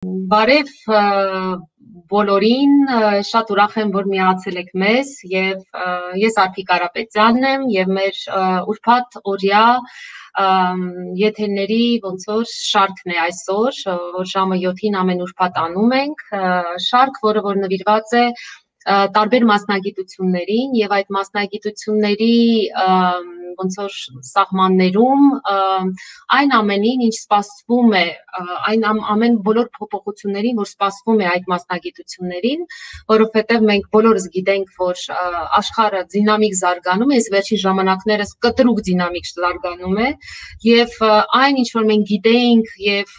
Բարև բոլորին, շատ ուրախ եմ, որ միացել եք մեզ եւ ես Արտիկ Կարապետյանն եմ եւ մեր ուրբաթ օրյա եթերների ոնց որ շարքն է այսօր, որ ժամը 7-ին ամեն ուրբաթ անում ենք, շարք, որը որ նվիրված է տարբեր մասնագիտություններին եւ այդ մասնագիտությունների ոնց որ սահմաններում այն ամենին, ինչ սպասվում է, այն ամեն բոլոր փոփոխություններին, որ սպասվում է այդ մասնագիտություններին, որովհետեւ մենք բոլորս գիտենք, որ աշխարհը դինամիկ զարգանում է, այս վերջին ժամանակներս կտրուկ դինամիկ զարգանում է, եւ այն, ինչ որ մենք գիտեինք եւ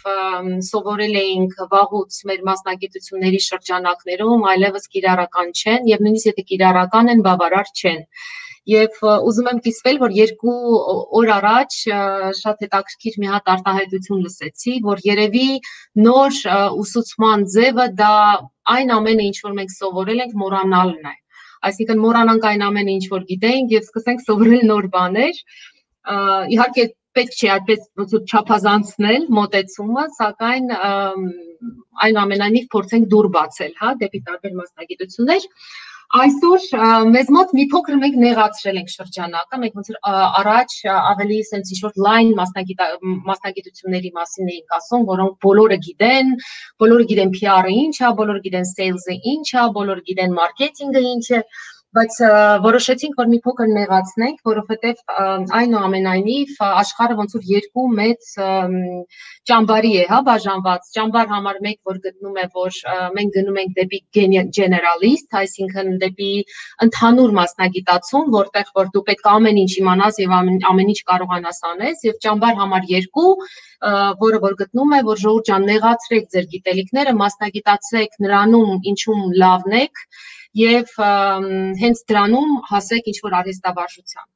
սովորել էինք վաղուց մեր մասնագիտությունների շրջանակներում, այլևս կիրառական չեն եւ նույնիսկ եթե կիրառական են, բավարար չեն։ Եվ ուզում եմ կիսվել, որ 2 օր առաջ շատ հետաքրքիր մի հատ արտահայտություն լսեցի, որ երևի նոր ուսուցման ձևը դա այն ամենը, ինչ որ մենք սովորել ենք, մոռանալն է։ Այսինքն մոռանանք այն ամենը, ինչ որ գիտենք եւ սկսենք սովորել նոր բաներ։ Իհարկե պետք չէ այդպես ոնց որ չափազանցնել մոտեցումը, սակայն այնուամենայնիվ փորձենք դուր բացել, հա, դեպի տարբեր մասնագիտություններ։ Այսօր մեզ մոտ մի փոքր մենք նեղացրել ենք շրջանակը, մենք ոնց որ առաջ ավելի sense ինչ-որ լայն մասնագիտությունների մասին էինք ասում, որոնք բոլորը գիտեն PR-ը ինչ է, բոլորը գիտեն sales-ը ինչ է, բոլորը գիտեն marketing-ը ինչ է, բայց որոշեցինք, որ մի փոքր նեղացնենք, որովհետև այնուամենայնիվ աշխարհը ոնց որ 2 մեծ ճամբարի է, հա, բաժանված։ Ճամբար համար 1, որ գտնում է, որ մենք գնում ենք դեպի generalist, այսինքն դեպի ընդհանուր մասնագիտացում, որտեղ որ դու պետք է ամեն ինչ իմանաս եւ ամեն ինչ կարողանաս անես, եւ ճամբար համար 2, որը որ գտնում է, որ ժողովուրդ ջան, նեղացրեք ձեր գիտելիքները, մասնագիտացեք նրանում, ինչում լավն եք եւ հենց դրանում հասեք ինչ-որ արհեստավարժության։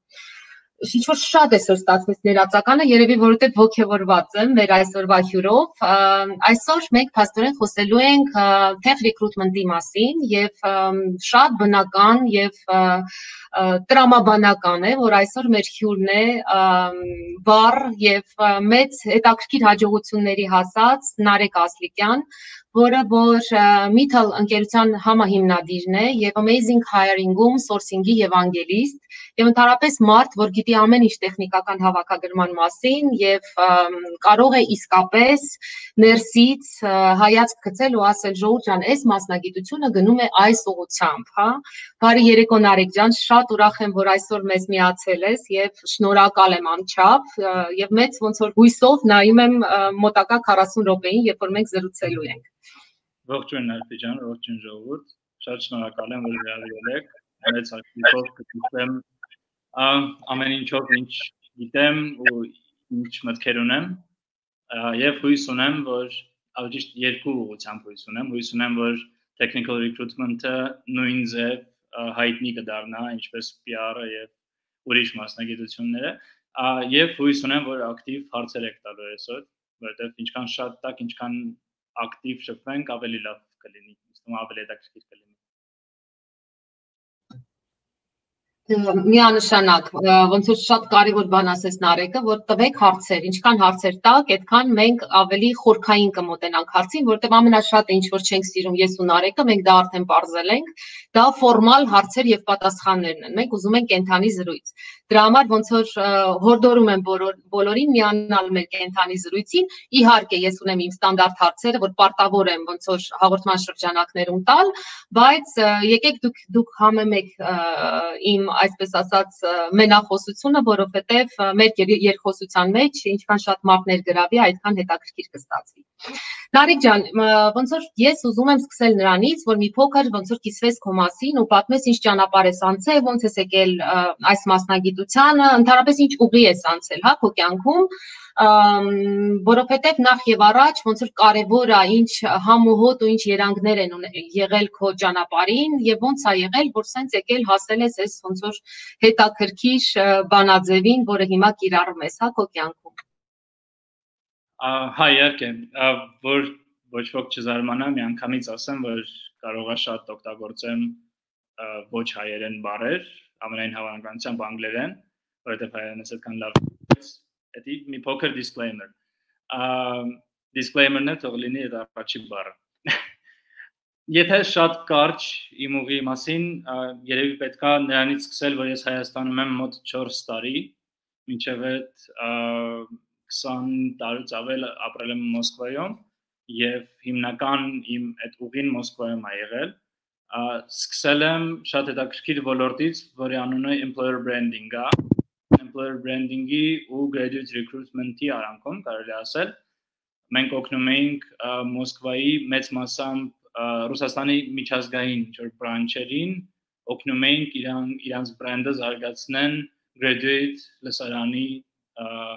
Ինչ-որ շատ է ստացվեց ներածականը, երևի որովհետեւ ոգևորված եմ մեր այսօրվա հյուրով։ Այսօր մենք փաստորեն խոսելու ենք tech recruitment-ի մասին եւ շատ բնական եւ տրամաբանական է, որ այսօր մեր հյուրն է բառ եւ մեծ հետաքրքիր հաջողությունների հասած Նարեկ Ասլիկյան, որը որ Mitel ընկերության համահիմնադիրն է եւ Amazing Hiring-ում sourcing-ի եւ անգելիստ եւ ընդհանրապես մարդ, որ գիտի ամեն ինչ տեխնիկական հավաքագրման մասին եւ կարող է իսկապես ներսից հայացք գցել ու ասել ժողովուրդ ջան, այս մասնագիտությունը գնում է այս ուղղությամբ, հա։ Բարի երեկո Նարեկ ջան, շատ ուրախ եմ, որ այսօր մեզ միացել ես եւ շնորհակալ եմ անչափ եւ մեծ ոնց որ հույսով նայում եմ մոտակա 40 րոպեին, երբ որ մենք զրուցելու ենք։ Ողջույն Արտի ջան, ողջույն ժողովուրդ, շատ շնորհակալ եմ, որ հրավիրել եք, մեծ հաշվով կգիտեմ ամեն ինչով ինչ գիտեմ ու ինչ մտքեր ունեմ եւ հույս ունեմ, որ ավելի ճիշտ 2 ուղղությամբ հույս ունեմ, որ technical recruitment-ը նույն ձև հայտնի կդառնա, ինչպես PR-ը եւ ուրիշ մասնագիտությունները եւ հույս ունեմ, որ ակտիվ հարցեր եք տալու այսօր, որովհետեւ ինչքան շատ տակ, ինչքան ակտիվ շփվենք, ավելի լավ կլինի, ավելի հետաքրքիր կլինի։ Միանշանակ, ոնց որ շատ կարևոր բան ասես Նարեկը, որ տվեք հարցեր, ինչքան հարցեր տակ, այդքան մենք ավելի խորքային կմոտենանք հարցին, որտեղ ամենաշատը ինչ որ չենք սիրում ես ու Նարեկը, մենք դա արդեն բարձել ենք, դա ֆորմալ հարցեր եւ պատասխաններն են։ Մենք ուզում ենք կենթանի զրույց։ Դրա համար ոնց որ հորդորում եմ բոլորին միանալ մեր կենթանի զրույցին։ Իհարկե, ես ունեմ իմ ստանդարտ հարցերը, որ պարտավոր եմ ոնց որ հաղորդման շրջանակներում տալ, բայց եկեք դուք համեմեք իմ այսպես ասած մենախոսությունը, որովհետև մեր երկխոսության մեջ ինչքան շատ մարդ ներգրավի, այդքան հետաքրքիր կստացվի։ Նարեկ ջան, ոնց որ ես ուզում եմ սկսել նրանից, որ մի փոքր ոնց որ կիսվես քո մասին ու պատմես ինչ ճանապարհ ես անցել, ոնց ես եկել այս մասնագիտությանը, ընդհանրապես ինչ ուղի ես անցել, հա, քո կյանքում, որովհետև նախ եւ առաջ ոնց որ կարևոր է ինչ համոհոտ ու ինչ երանգներ են եղել քո ճանապարհին եւ ոնց է եղել, որ սենց եկել հասել ես այս ոնց որ հետաքրքիր բանաձևին, որը հիմա կիրառում ես, հա, քո կյանքում։ Հա, իհարկե, որ ոչ ոք չզարմանա, միանգամից ասեմ, որ կարող է շատ օգտագործեմ ոչ հայերեն բառեր, ամենայն հավանականությամբ անգլերեն, որովհետև հայերենս այդքան լավ է, մի փոքր disclaimer։ disclaimer-ն է թող լինի այդ առաջի բառը։ Եթե շատ կարճ իմ ուղի մասին, երևի պետքա նրանից սկսել, որ ես Հայաստանում եմ մոտ 4 տարի, մինչև այդ 20 տարուց ավել ապրել եմ Մոսկվայում եւ հիմնական իմ այդ ուղին Մոսկվայում է եղել։ Սկսել եմ շատ հետաքրքիր ոլորտից, որի անունը employer branding-ը, employer branding-ի ու graduate recruitment-ի արանքում կարելի ասել։ Մենք օգնում էինք Մոսկվայի մեծ մասամբ Ռուսաստանի միջազգային բրանչերին օգնում էինք իրանց բրենդը զարգացնեն graduate լսարանի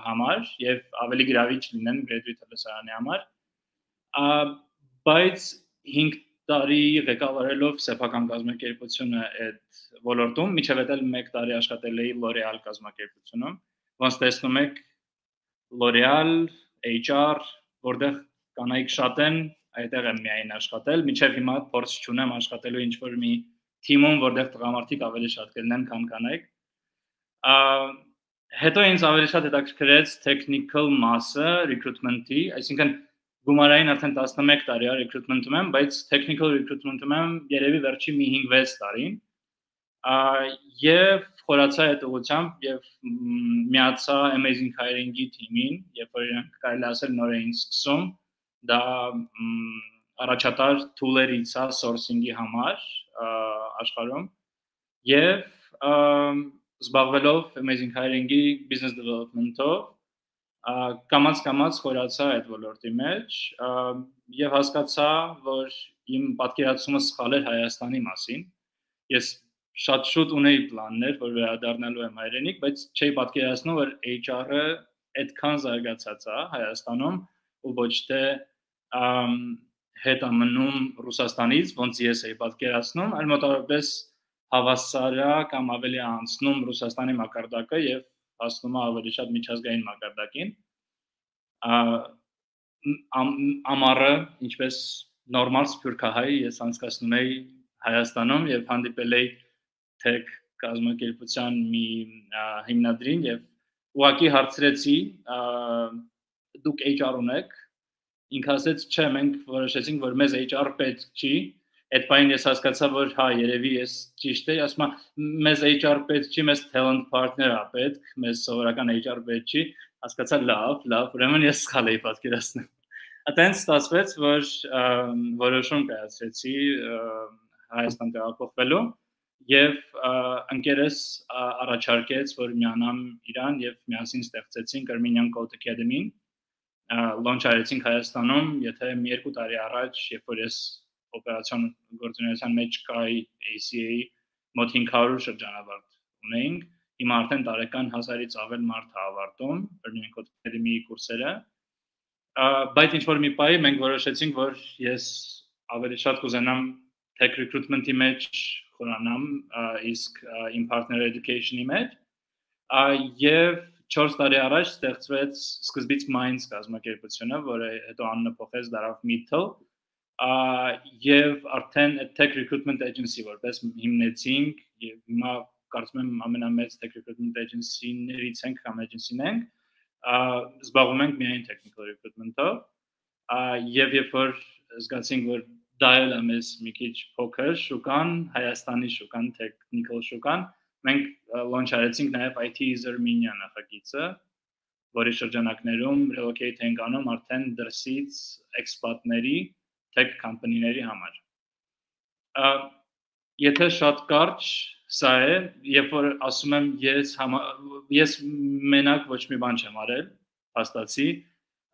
համար եւ ավելի գրավիչ լինեն graduate լսարանի համար բայց 5 տարի ղեկավարելով սեփական կազմակերպությունը այդ ոլորտում միջև էլ 1 տարի աշխատել էի L'Oreal կազմակերպությունում ոնց տեսնում եք L'Oreal HR որտեղ կանայք շատ են այդտեղ եմ միայն աշխատել, միջև հիմա փորձ չունեմ աշխատելու ինչ-որ մի թիմում, որտեղ տղամարդիկ ավելի շատ կլինեն, քան կանայք։ Հետո ինձ ավելի շատ հետաքրքրեց technical մասը recruitment-ի, այսինքն գումարային արդեն 11 տարի է recruitment-ում եմ, բայց technical recruitment-ում եմ երևի վերջի մի 5-6 տարին։ Եվ խորացա այդ ուղղությամբ եւ միացա Amazing Hiring-ի թիմին, երբ որ իրանք կարելի ասել նոր էին սկսում դա առաջատար tool-երից է sourcing-ի համար աշխարհում եւ զբաղվելով Amazing Hiring-ի business development-ով կամաց խորացա այդ ոլորտի մեջ եւ հասկացա, որ իմ պատկերացումը սխալ էր Հայաստանի մասին։ Ես շատ շուտ ունեի պլաններ, որ վերադառնալու եմ հայրենիք, բայց չէի պատկերացնում, որ HR-ը այդքան զարգացած է Հայաստանում ու ոչ թե հետ ամնում Ռուսաստանից, ոնց ես էի պատկերացնում, այլ մոտավորապես հավասար է կամ ավելի անցնում Ռուսաստանի մակարդակը եւ հասնում է ավելի շատ միջազգային մակարդակին։ Ամառը, ինչպես նորմալ սփյուռքահայ, ես անցկացնում էի Հայաստանում եւ հանդիպել էի tech կազմակերպության մի հիմնադրին եւ ուղղակի հարցրեցի դուք HR ունեք ինքը ասեց չէ մենք որոշեցինք որ մեզ HR պետք չի այդ բանը ես հասկացա որ հա երևի ես ճիշտ եմ ասում մեզ HR պետք չի մեզ talent partner-ը պետք մեզ սովորական HR պետք չի հասկացա լավ ուրեմն ես սխալ էի պատկերացնում այդտենց ստացվեց որ որոշում կայացրեցի Հայաստան տեղափոխվելու եւ ընկերս առաջարկեց որ միանամ իրան եւ միասին ստեղծեցինք Armenian Code Academy-ին launch արեցինք Հայաստանում, եթե մի 2 տարի առաջ, երբ որ ես օպերացիոն գործունեության մեջ կայի ACA-ի մոտ 500 շրջանավարտ ունեինք, հիմա արդեն տարեկան 1000-ից ավել մարդ է ավարտում Armenian Code Academy-ի կուրսերը, բայց ինչ-որ մի պահի մենք որոշեցինք, որ ես ավելի շատ կուզենամ tech recruitment-ի մեջ խորանամ, իսկ իմ partner education-ի մեջ, եւ 4 տարի առաջ ստեղծվեց սկզբից Minds կազմակերպությունը, որը հետո անունը փոխեց դարավ Meetle, եւ արդեն tech recruitment agency որպես հիմնեցինք եւ հիմա կարծում եմ ամենամեծ tech recruitment agency-ներից ենք կամ agency-ն ենք, զբաղվում ենք միայն technical recruitment-ով, եւ երբ որ զգացինք, որ դա էլ է մեզ մի քիչ փոքր շուկան, Հայաստանի շուկան, technical շուկան, մենք launch արեցինք նաև IT is Armenia նախագիծը, որի շրջանակներում relocate ենք անում արդեն դրսից expat-ների, tech company-ների համար։ Եթե շատ կարճ սա է, երբ որ ասում եմ ես մենակ ոչ մի բան չեմ արել, հաստատի,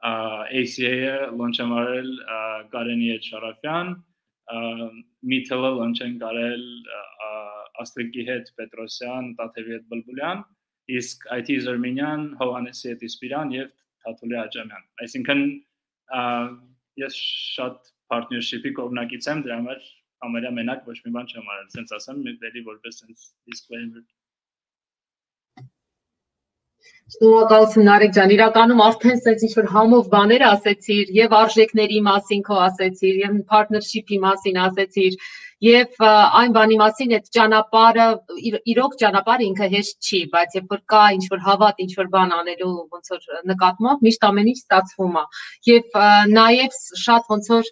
ACA-ը launch եմ արել Կարենի հետ Շարաֆյան, Meetle-ը launch են արել Աստրիկի հետ Պետրոսյան, Տաթևի հետ Բլբուլյան, իսկ IT is Armenian, Հովանեսի հետ Իսպիրան եւ Թաթուլի Աջամյան։ Այսինքն ես շատ partnership-ի կողմնակից եմ, դրա համար ամենա մենակ ոչ մի բան չեմ արել, ասենց ասեմ, դեպի որպես sense disclaimer։ Շնորհակալություն Նարեկ ջան, իրականում արդեն sense ինչ-որ համով բաներ ասեցիր, եւ արժեքների մասին քո ասեցիր, եւ partnership-ի մասին ասեցիր, եւ այն բանի մասին այդ ճանապարհը իրոք ճանապարհը ինքը հեշտ չի, բայց երբ որ կա ինչ-որ հավատ, ինչ-որ բան անելու ոնց որ նկատմամբ միշտ ամեն ինչ ստացվում է։ Եվ նաեւ շատ ոնց որ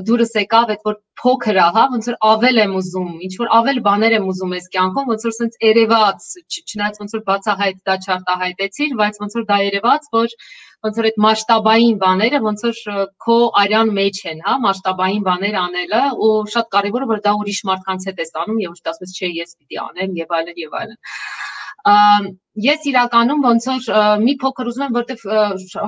դուրս եկավ այդ որ փոքր է, հա, ոնց որ ավել եմ ուզում, ինչ որ ավել բաներ եմ ուզում այս կյանքում, ոնց որ sense երևաց, չնայած ոնց որ բացահայտ դա չարտահայտեցիր, բայց ոնց որ դա երևաց, որ ոնց որ այդ մասշտաբային բաները ոնց որ քո արյան մեջ են, հա, մասշտաբային բաներ անելը ու շատ կարևոր է որ դա ուրիշ մարդկանց հետ ես անում եւ ոչ թե ասես չէ ես պիտի անեմ եւ այլն եւ այլն։ Ես իրականում ոնց որ մի փոքր ուզում եմ որտեվ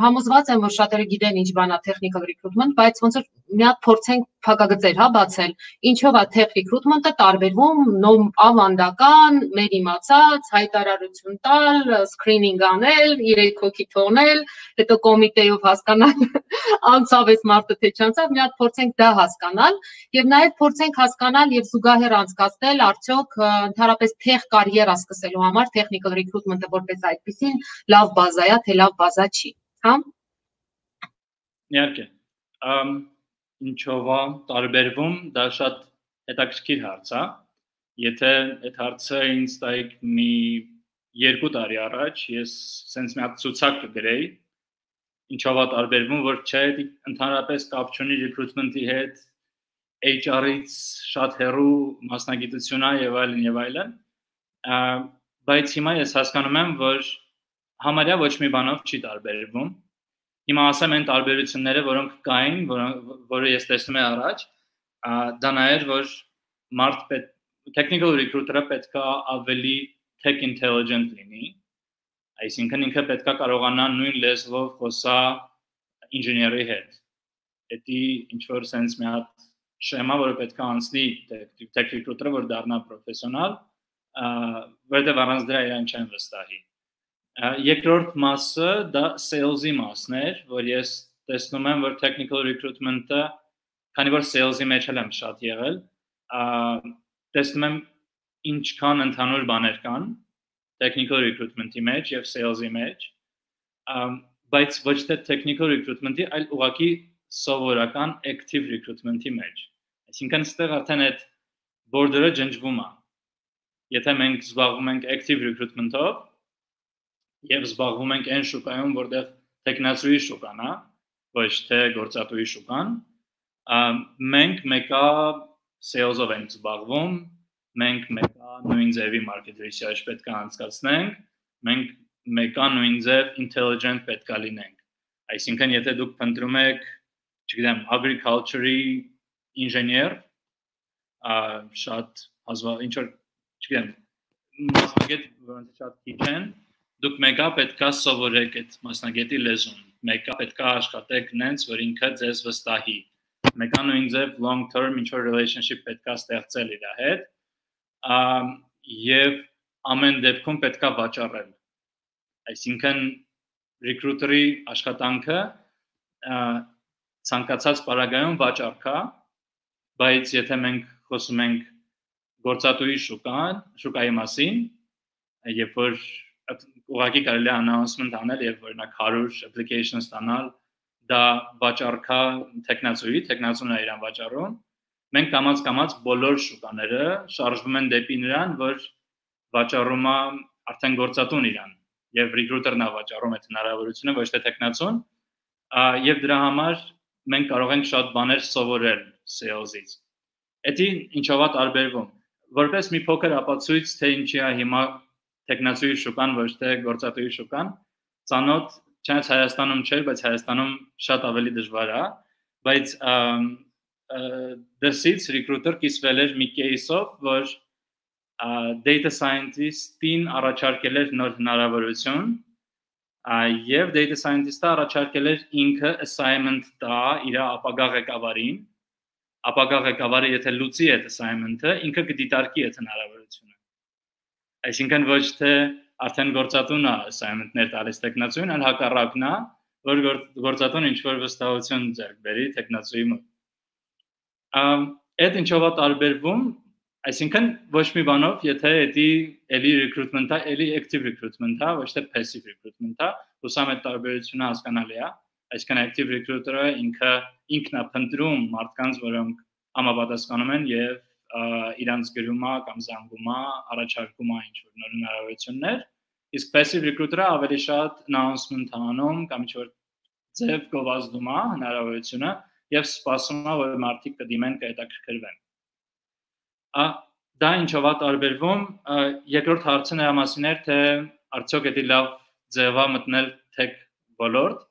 համոզված եմ որ շատերը գիտեն ինչ բան է technical recruitment, բայց ոնց որ մի հատ փորձենք փակագծեր, հա, բացել։ Ինչով է tech recruitment-ը տարբերվում ավանդական, մեր իմացած, հայտարարություն տալ, screening անել, 3 հոգի թողնել, հետո կոմիտեով հասկանալ անցավ այս մարդը թե չանցավ, մի հատ փորձենք դա հասկանալ եւ նաեւ փորձենք հասկանալ եւ զուգահեռ անցկացնել արդյոք ընդհանրապես tech կարիերա սկսելու համար technical recruitment-ը որպես այդպեսին լավ բազա է, թե լավ բազա չի, հա։ Իհարկե։ Ինչով է տարբերվում, դա շատ հետաքրքիր հարց է։ Եթե այդ հարցը ինձ տայիք մի 2 տարի առաջ, ես sense մի հատ ցուցակ կգրեի, ինչով է տարբերվում, որ չէ, ընդհանրապես կապ չունի recruitment-ի հետ, HR-ից շատ հեռու մասնագիտություն է եւ այլն եւ այլն։ Բայց հիմա ես հասկանում եմ, որ համարյա ոչ մի բանով չի տարբերվում։ Հիմա ասեմ այն տարբերությունները, որոնք կային, որը ես տեսնում եմ առաջ, դա նա էր, որ technical recruiter-ը պետք է ավելի tech intelligent լինի, այսինքն ինքը պետք է կարողանա նույն լեզվով խոսա ինժեների հետ։ Դա ինչ որ sense մի հատ շեմա, որը պետք է անցնի tech recruiter-ը, որ դառնա պրոֆեսիոնալ, որտեղ առանց դրա իրեն չեն վստահի։ Երկրորդ մասը դա sales-ի մասն էր, որ ես տեսնում եմ, որ technical recruitment-ը, քանի որ sales-ի մեջ եմ շատ եղել, տեսնում եմ ինչքան ընդհանուր բաներ կան technical recruitment-ի մեջ եւ sales-ի մեջ, բայց ոչ թե technical recruitment-ի, այլ ուղղակի սովորական active recruitment-ի մեջ։ Այսինքն այստեղ արդեն այդ border-ը ջնջվում է։ Եթե մենք զբաղվում ենք active recruitment-ով եւ զբաղվում ենք այն շուկայում, որտեղ տեխնացուի շուկան է, ոչ թե գործատուի շուկան, մենք մեկա sales-ով ենք զբաղվում, մենք մեկա նույն ձևի market research պետք է անցկացնենք, մենք մեկա նույն ձև intelligent պետք է լինենք։ Այսինքն եթե դուք փնտրում եք, չգիտեմ, agriculture-ի ինժեներ, շատ ինչ որ չգիտեմ, մասնագետ, որոնց շատ քիչ են, դուք մեկա պետքա սովորեք այդ մասնագետի լեզուն, մեկա պետքա աշխատեք նենց, որ ինքը ձեզ վստահի, մեկա նույն ձև long term ինչ-որ relationship պետքա ստեղծել իր հետ, եւ ամեն դեպքում պետքա վաճառել։ Այսինքն recruiter-ի աշխատանքը ցանկացած պարագայում վաճառք է, բայց եթե մենք խոսում ենք գործատուի շուկայի մասին, երբ որ ուղղակի կարելի է announcement անել եւ օրինակ 100 application ստանալ, դա վաճառքա տեխնացուն է իրան վաճառում, մենք կամաց բոլոր շուկաները շարժվում են դեպի նրան, որ վաճառում է արդեն գործատուն իրան եւ recruiter-ն է վաճառում այդ հնարավորությունը, ոչ թե տեխնացուն, եւ դրա համար մենք կարող ենք շատ բաներ սովորել sales-ից։ Դա ինչով է տարբերվում։ Որպես մի փոքր ապացույց, թե ինչի է հիմա տեխնացուի շուկան, ոչ թե գործատուի շուկան, ծանոթ չնայած Հայաստանում չէր, բայց Հայաստանում շատ ավելի դժվար է, բայց դրսից recruiter կիսվել էր մի case-ով, որ data scientist-ին առաջարկել էր նոր հնարավորություն, եւ data scientist-ը առաջարկել էր ինքը assignment տա իր ապագա ղեկավարին, ապագա ղեկավարը եթե լուծի այդ assignment-ը, ինքը կդիտարկի այդ հնարավորությունը։ Այսինքն ոչ թե արդեն գործատուն է assignment-ներ տալիս տեխնացուին, այլ հակառակն է, որ գործատուն ինչ-որ վստահություն ձեռք բերի տեխնացուի մոտ։ Այդ ինչով է տարբերվում, Այսինքն ոչ մի բանով, եթե էդի էլի recruitment-ը, էլի active recruitment-ը, ոչ թե passive recruitment-ը, ուսամ այդ տարբերությունը հասկանալի է, այսինքն active recruiter-ը ինքնափնտրում մարդկանց, որոնք համապատասխանում են եւ իրանց գրումա կամ զանգումա առաջարկում է ինչ-որ նոր հնարավորություններ, իսկ passive recruiter-ը ավելի շատ announcement անում կամ ինչ-որ ձև գովազդում է հնարավորությունը եւ սպասում է, որ մարդիկ կդիմեն կհետաքրքրվեն։ Դա ինչով է տարբերվում, երկրորդ հարցը նրա մասին էր, թե արդյոք էդի լավ ձև է մտնել tech ոլորտ։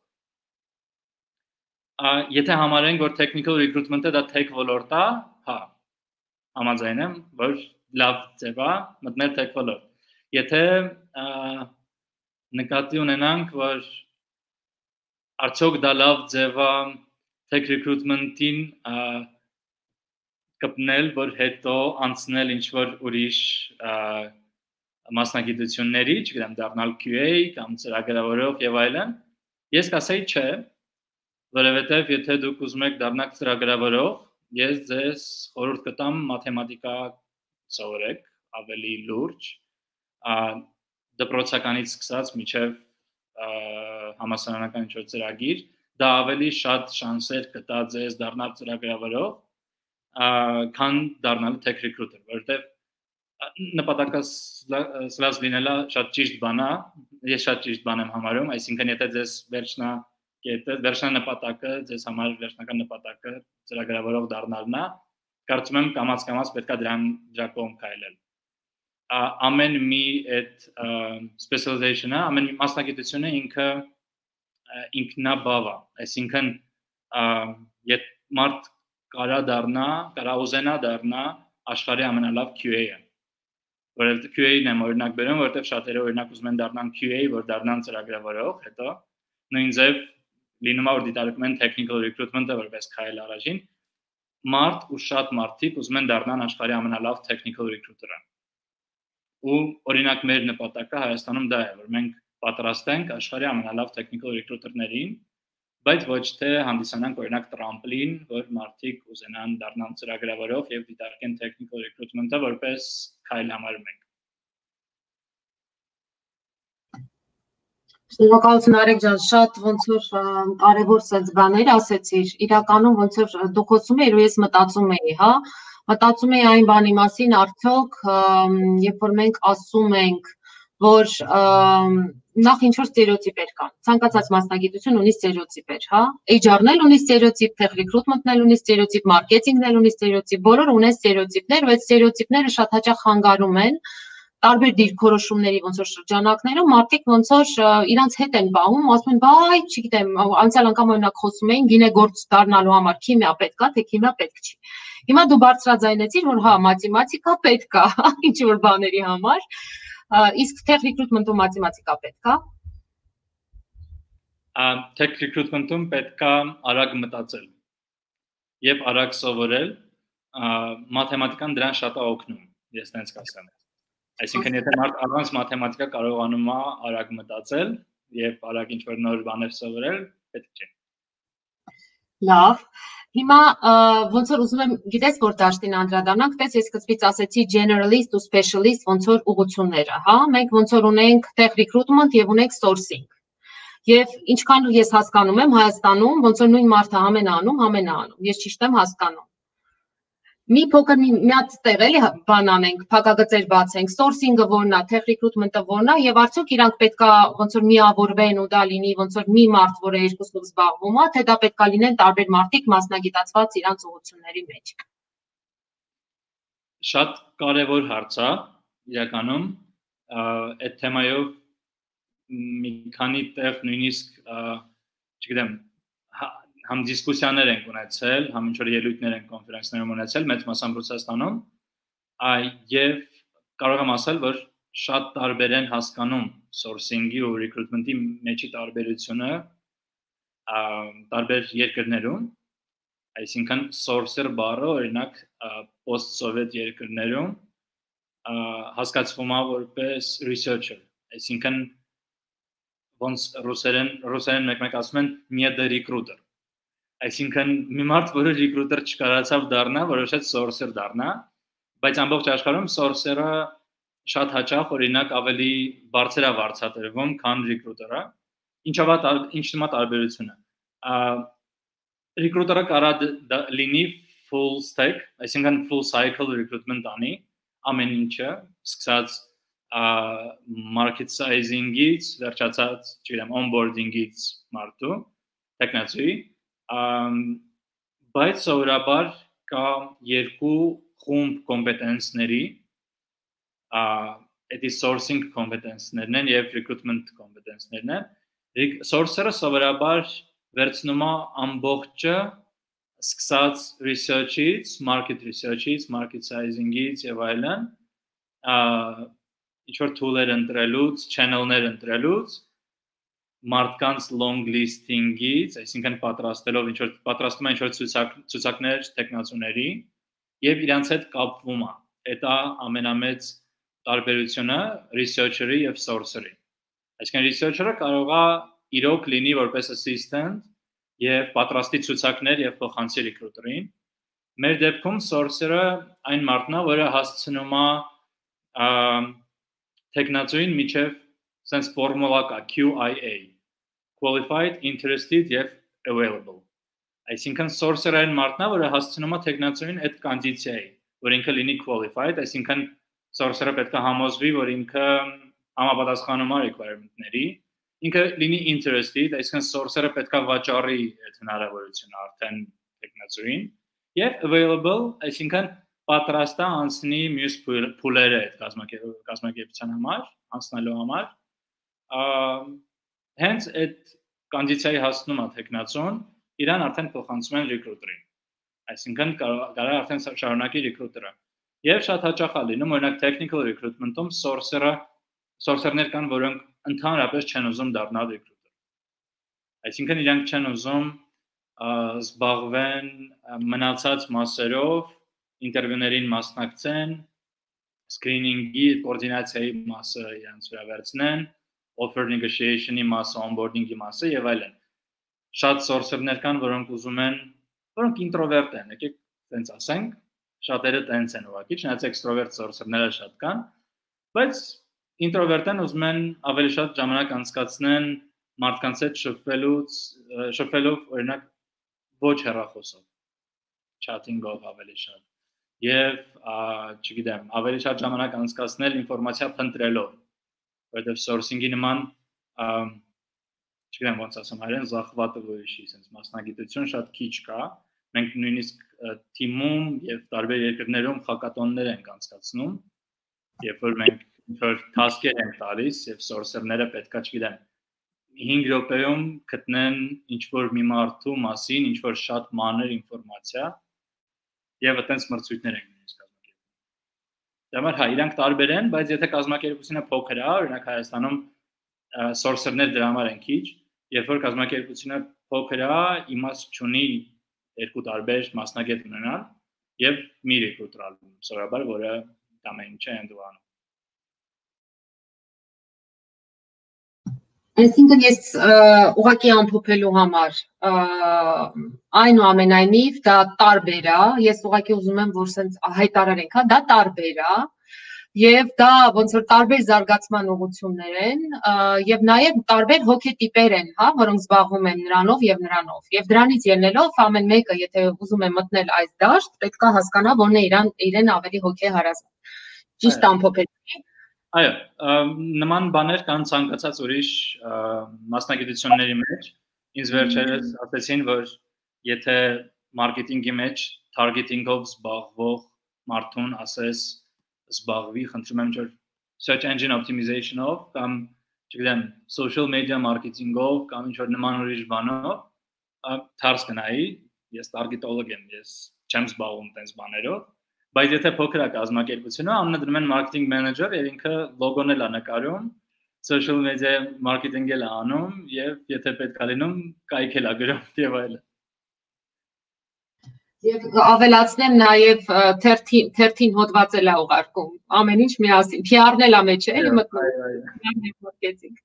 Եթե համարենք, որ technical recruitment-ը դա tech ոլորտ է, հա, համաձայն եմ, որ լավ ձև է մտնել tech ոլորտ։ Եթե նկատի ունենանք, որ արդյոք դա լավ ձև է tech recruitment-ին կպնել, որ հետո անցնել ինչ-որ ուրիշ մասնագիտությունների, չգիտեմ, դառնալ QA կամ ծրագրավորող եւ այլն, ես կասեի չէ, որովհետեւ եթե դուք ուզում եք դառնալ ծրագրավորող, ես ձեզ խորհուրդ կտամ մաթեմատիկա սովորեք, ավելի լուրջ, դպրոցականից սկսած մինչև համալսարանական ինչ-որ ծրագիր, դա ավելի շատ շանսեր կտա ձեզ դառնալ ծրագրավորող, քան դառնալ tech recruiter, որովհետև նպատակասլաց լինելը շատ ճիշտ բան է, ես շատ ճիշտ բան եմ համարում, այսինքն եթե ձեզ վերջնանպատակը, ձեզ համար վերջնական նպատակը ծրագրավորող դառնալն է, կարծում եմ կամաց-կամաց պետք է դրա կողմ քայլել։ Ամեն մի այդ specialization-ը, ամեն մի մասնագիտությունը ինքնաբավ է, այսինքն եթե մարդ կարա ուզենա դառնա աշխարհի ամենալավ QA-ը, որովհետև QA-ն եմ օրինակ բերում, որովհետև շատերը օրինակ ուզում են դառնան QA, որ դառնան ծրագրավորող, հետո նույն ձև լինում է որ դիտարկում են technical recruitment-ը որպես քայլ առաջին, մարդ ու շատ մարդիկ ուզում են դառնան աշխարհի ամենալավ technical recruiter-ը։ Ու օրինակ մեր նպատակը Հայաստանում դա է, որ մենք պատրաստ ենք աշխարհի ամենալավ technical recruiter-ներին, բայց ոչ թե հանդիսանանք օրինակ տրամպլին, որ մարդիկ ուզենան դառնան ծրագրավորող եւ դիտարկեն technical recruitment-ը որպես քայլ համարում ենք։ Շնորհակալություն Արեգ ջան, շատ ոնց որ կարևոր սենց բաներ ասեցիր, իրականում ոնց որ դուք խոսում եք ու ես մտածում էի, հա, մտածում էի այն բանի մասին, արդյոք երբ որ մենք ասում ենք, որ նախ ինչ որ ստերեոտիպեր կան, ցանկացած մասնագիտություն ունի ստերեոտիպեր, հա, HR-ն էլ ունի ստերեոտիպ, tech recruitment-ն էլ ունի ստերեոտիպ, մարքեթինգն էլ ունի ստերեոտիպ, բոլորը ունեն ստերեոտիպներ, ու այդ ստերեոտիպները շատ հաճախ խանգարում են տարբեր դիրքորոշումների ոնց որ շրջանակներում մարդիկ ոնց որ իրանց հետ են պահում, ասում են, բայ, չգիտեմ, անցյալ անգամ օրինակ խոսում էին գինեգործ դառնալու համար քիմիա պետք է, թե քիմիա պետք չի։ Հիմա դու բարձրաձայնեցիր, որ հա, մաթեմատիկա պետք է, ինչ որ բաների համար, իսկ tech recruitment-ում մաթեմատիկա պետք է։ Tech recruitment-ում պետք է արագ մտածել եւ արագ սովորել, մաթեմատիկան դրան շատ է օգնում, ես տենց կասեմ։ Այսինքն եթե մարդ առանց մաթեմատիկա կարողանում է արագ մտածել եւ արագ ինչ-որ նոր բաներ սովորել, պետք չէ։ Լավ։ Հիմա ոնց որ ուզում եմ, գիտես որ դաշտին անդրադառնանք, տես ես սկզբից ասեցի generalist ու specialist ոնց որ ուղղությունները, հա, մենք ոնց որ ունենք tech recruitment եւ ունենք sourcing։ Եվ ինչքան ես հասկանում եմ Հայաստանում, ոնց որ նույն մարդը ամեն անում, ես ճիշտ եմ հասկանում։ Մի փոքր մի հատ տեղ էլի բան անենք, փակագծեր բացենք, sourcing-ը որն է, tech recruitment-ը որն է, եւ արդյոք իրանք պետքա ոնց որ միավորվեն ու դա լինի ոնց որ մի մարդ, որը երկուսով զբաղվում է, թե դա պետքա լինեն տարբեր մարդիկ մասնագիտացված իրանք ուղղությունների մեջ։ Շատ կարևոր հարց է, իրականում, այդ թեմայով մի քանի տեղ նույնիսկ, չգիտեմ, համ դիսկուսիաներ ենք ունեցել, համ ինչ-որ ելույթներ ենք կոնֆերանսներում ունեցել մեծ մասամբ Ռուսաստանում, եւ կարող եմ ասել, որ շատ տարբեր են հասկանում sourcing-ի ու recruitment-ի մեջի տարբերությունը տարբեր երկրներում, այսինքն sourcer բառը օրինակ post-soviet երկրներում հասկացվում է որպես researcher, այսինքն ոնց ռուսերեն մեկ-մեկ ասում են «не до recruiter», այսինքն մի մարդ, որը recruiter չկարողացավ դառնա, որոշեց sourcer դառնա, բայց ամբողջ աշխարհում sourcer-ը շատ հաճախ օրինակ ավելի բարձր է վարձատրվում, քան recruiter-ը։ Ինչ նոմա տարբերությունը։ Recruiter-ը կարա լինի full stack, այսինքն full cycle recruitment անի, ամեն ինչը, սկսած market sizing-ից, վերջացած, չգիտեմ, onboarding-ից մարդու, տեխնացուի, բայց սովորաբար կա երկու խումբ կոմպետենսների, այդ sourcing կոմպետենսներն են եւ recruitment կոմպետենսներն են։ Sourcer-ը սովորաբար վերցնում է ամբողջը սկսած research-ից, market research-ից, market sizing-ից եւ այլն, ինչ-որ tool-եր ընտրելուց, channel-ներ ընտրելուց, մարդկանց long listing-ից, այսինքն պատրաստելով պատրաստում են ինչ-որ ցուցակներ տեխնացուների եւ իրանց հետ կապվում է։ Դա ամենամեծ տարբերությունը researcher-ի եւ sourcer-ի։ Այսինքն researcher-ը կարող է իրոք լինի որպես assistant եւ պատրաստի ցուցակներ եւ փոխանցի recruiter-ին։ Մեր դեպքում sourcer-ը այն մարդն է, որը հասցնում է տեխնացուին միջև sense formula կա QIA, qualified, interested եւ available։ Այսինքն sourcer-ը այն մարդն է, որը հասցնում է տեխնացուին այդ կոնդիցիայի, որ ինքը լինի qualified, այսինքն sourcer-ը պետք է համոզվի, որ ինքը համապատասխանում է requirement-ների, ինքը լինի interested, այսինքն sourcer-ը պետք է վաճառի այդ հնարավորությունը արդեն տեխնացուին, եւ available, այսինքն պատրաստ է անցնի մյուս փուլերը այդ կազմակերպության համար, անցնելու համար, հենց այդ կոնդիցիայի հասնում է տեխնացուն, իրան արդեն փոխանցում են recruiter-ին, այսինքն կարող արդեն շարունակի recruiter-ը, եւ շատ հաճախ է լինում, օրինակ technical recruitment-ում sourcer-ներ կան, որոնք ընդհանրապես չեն ուզում դառնալ recruiter, այսինքն իրանք չեն ուզում զբաղվեն մնացած մասերով, ինտերվյուներին մասնակցեն, screening-ի, կոորդինացիայի մասը իրանց վրա վերցնեն, offer negotiation-ի մասը, onboarding-ի մասը եւ այլն։ Շատ sourcer-ներ կան, որոնք ուզում են, որոնք introvert են, եկեք տենց ասենք, շատերը տենց են ուղղակի, չնայած extrovert sourcer-ները շատ կան, բայց introvert-ն ուզում են ավելի շատ ժամանակ անցկացնեն մարդկանց հետ շփվելով օրինակ ոչ հեռախոսով, chatting-ով ավելի շատ եւ չգիտեմ, ավելի շատ ժամանակ անցկացնել ինֆորմացիա փնտրելով, որովհետեւ sourcing-ի նման չգիտեմ ոնց ասեմ, հայերեն զախվատվոյի, sense մասնագիտություն շատ քիչ կա։ Մենք նույնիսկ թիմում եւ տարբեր երկրներում հակատոններ ենք անցկացնում, երբ որ մենք ինչ-որ task-եր ենք տալիս եւ sourcer-ները պետքա, չգիտեմ, 5 րոպեում գտնեն ինչ-որ մի մարդու մասին, ինչ-որ շատ մանր ինֆորմացիա եւ այդպես մրցույթներ են նույնիսկ կազմակերպում։ Դե հա, իրանք տարբեր են, բայց եթե կազմակերպությունը փոքր է, օրինակ Հայաստանում sourcer-ներ դրա համար են քիչ, երբ որ կազմակերպությունը փոքր է, իմաստ չունի երկու տարբեր մասնագետ ունենալ եւ մի recruiter ալում, սովորաբար որը ամեն ինչը ընդունում։ Այսինքն ես ուղղակի ամփոփելու համար այնուամենայնիվ դա տարբեր է, ես ուղղակի ուզում եմ որ սենց հայտարարենք, հա, դա տարբեր է եւ դա ոնց որ տարբեր զարգացման ուղղություններ են եւ նաեւ տարբեր հոգետիպեր են, հա, որոնք զբաղվում են նրանով եւ նրանով եւ դրանից ելնելով ամեն մեկը եթե ուզում է մտնել այս դաշտ, պետք է հասկանա որն է իրեն ավելի հոգեհարազատ։ Ճիշտ ամփոփել։ Այո, նման բաներ կան ցանկացած ուրիշ մասնագիտությունների մեջ։ Ինձ վերջերս ասեցին, որ եթե մարքեթինգի մեջ targeting-ով զբաղվող մարդուն ասես զբաղվի, խնդրում եմ որ search engine optimization-ով կամ, չգիտեմ, social media marketing-ով կամ ինչ-որ նման ուրիշ բանով, թարս կնայի, ես targetolog եմ, ես չեմ զբաղվում տենց բաներով, բայց եթե փոքր է կազմակերպությունը, ամենը դնում են marketing manager եւ ինքը լոգոն էլ է նկարում, social media marketing-ել է անում եւ եթե պետք է լինում, կայքել է գրում եւ այլն։ Եվ ավելացնեմ նաև 13 հոդված էլ է ուղարկում, ամեն ինչ միասին, PR-ն էլ է մեջ է, էլի մտնում։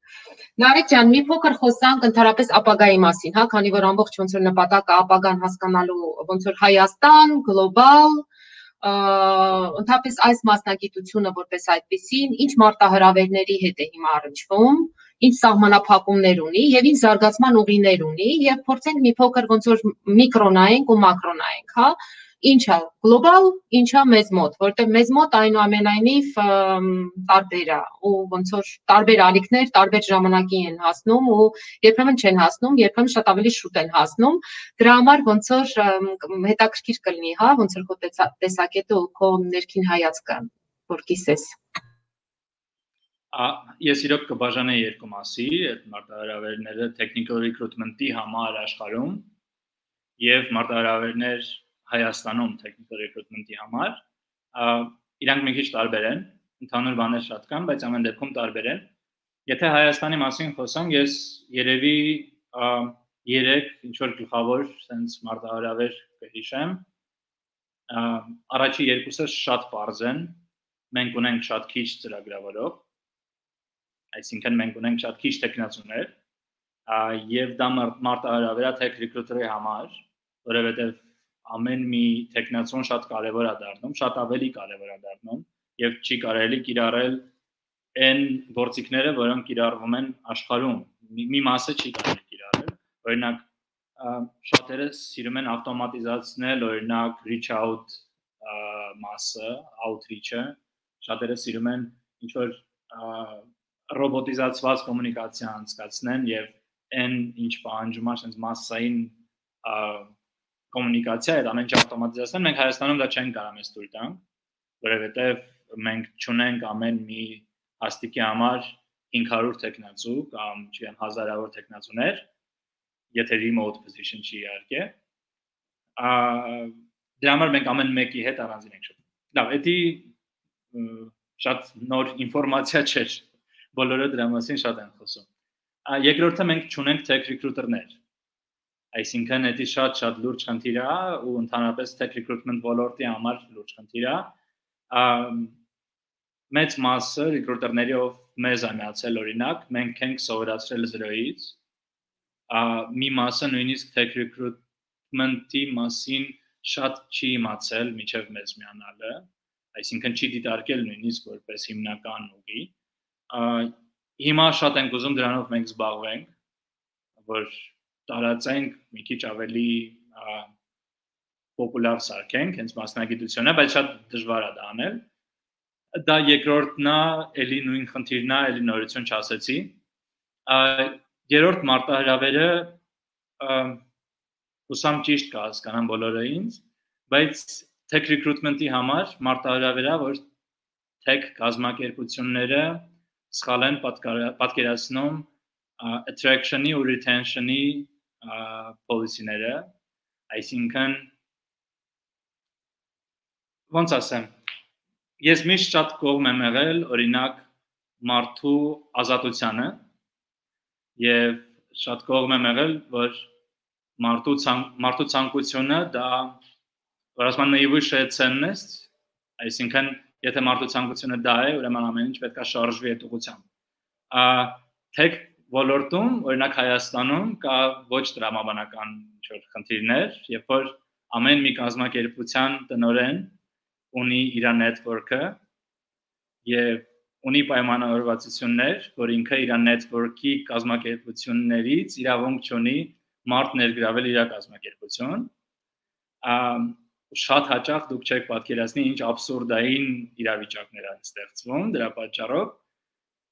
Նարեկ ջան, մի փոքր խոսանք ընդհանրապես ապագայի մասին, հա, քանի որ ամբողջ ոնց որ նպատակը ապագան հասկանալու ոնց որ Հայաստան, գլոբալ, ընդհանրապես այս մասնագիտությունը որպես այդպեսին, ինչ մարտահրավերների հետ է հիմա առնչվում, ինչ սահմանափակումներ ունի եւ ինչ զարգացման ուղիներ ունի եւ փորձենք մի փոքր ոնց որ միկրոնայենք ու մակրոնայենք, հա, ինչա գլոբալ, ինչա մեզ մոտ, որտեղ մեզ մոտ այնուամենայնիվ տարբեր է ու ոնց որ տարբեր ալիքներ տարբեր ժամանակի են հասնում ու երբեմն չեն հասնում, երբեմն շատ ավելի շուտ են հասնում։ Դրա համար ոնց որ հետաքրքիր կլինի, հա, ոնց որ քո տեսակետը ու քո ներքին հայացքը, որ կիսես։ Ես իրոք կբաժանեի երկու մասի, այդ մարտահրավերները technical recruitment-ի համար աշխարհում եւ մարտահրավերներ Հայաստանում technical recruitment-ի համար, իրանք մի քիչ տարբեր են, ընդհանուր բաներ շատ կան, բայց ամեն դեպքում տարբեր են։ Եթե Հայաստանի մասին խոսանք, ես երևի 3 ինչ որ գլխավոր sense մարտահրավեր կհիշեմ։ Առաջի երկուսը շատ པարզ են, մենք ունենք շատ քիչ ծրագրավորող, այսինքն մենք ունենք շատ քիչ տեխնացուներ, եւ դա մարտահրավերա tech recruiter-ի համար, որովհետեւ ամեն մի տեխնացուն շատ կարևոր է դառնում, շատ ավելի կարևոր է դառնում եւ չի կարելի կիրառել այն գործիքները, որոնք կիրառվում են աշխարհում։ Մի մասը չի կարելի կիրառել։ Օրինակ, շատերը սիրում են ավտոմատիզացնել, օրինակ reach out մասը, outreach-ը, շատերը սիրում են ինչ որ ռոբոտիզացված կոմունիկացիա անցկացնեն եւ այն ինչ պահանջում է sense massային կոմունիկացիա այդ ամեն ինչ ավտոմատիզացնել, մենք Հայաստանում դա չենք կարող մեզ թույլ տանք, որովհետեւ մենք չունենք ամեն մի հաստիկի համար 500 տեխնացու կամ չգիտեմ հազարավոր տեխնացուներ, եթե remote position չի իհարկե, դրա համար մենք ամեն մեկի հետ առանձին ենք շփվում։ Լավ, դա շատ նոր ինֆորմացիա չէ, բոլորը դրա մասին շատ են խոսում։ Երկրորդը մենք չունենք tech recruiter-ներ, այսինքն դա շատ լուրջ խնդիր է ու ընդհանրապես tech recruitment ոլորտի համար լուրջ խնդիր է։ Մեծ մասը recruiter-ների ով մեզ է միացել օրինակ, մենք ենք սովորացրել 0-ից, մի մասը նույնիսկ tech recruitment-ի մասին շատ չի իմացել մինչև մեզ միանալը, այսինքն չի դիտարկել նույնիսկ որպես հիմնական ուղի։ Հիմա շատ ենք ուզում դրանով մենք զբաղվենք, որ տարածենք մի քիչ ավելի պոպուլար սարքենք հենց մասնագիտությունը, բայց շատ դժվար է դա անել։ Դա երկրորդն է, էլի նույն խնդիրն է, էլի նորություն չասեցի։ Երրորդ մարտահրավերը հուսամ ճիշտ կհասկանան բոլորը ինձ, բայց tech recruitment-ի համար մարտահրավերա, որ tech կազմակերպությունները սխալ են պատկերացնում attraction-ի ու retention-ի policy-ները, այսինքն ոնց ասեմ, ես միշտ շատ կողմ եմ եղել, օրինակ մարդու ազատությանը եւ շատ կողմ եմ եղել, որ մարդու ցանկությունը դա որ ասում են наивысшая ценность, այսինքն եթե մարդու ցանկությունը դա է, ուրեմն ամեն ինչ պետք է շարժվի այդ ուղղությամբ։ Tech ոլորտում, օրինակ Հայաստանում կա ոչ տրամաբանական ինչ-որ խնդիրներ, երբ որ ամեն մի կազմակերպության տնօրեն ունի իր network-ը եւ ունի պայմանավորվածություններ, որ ինքը իր network-ի կազմակերպություններից իրավունք չունի մարդ ներգրավել իր կազմակերպություն։ Շատ հաճախ դուք չեք պատկերացնի ինչ աբսուրդային իրավիճակներ են ստեղծվում դրա պատճառով,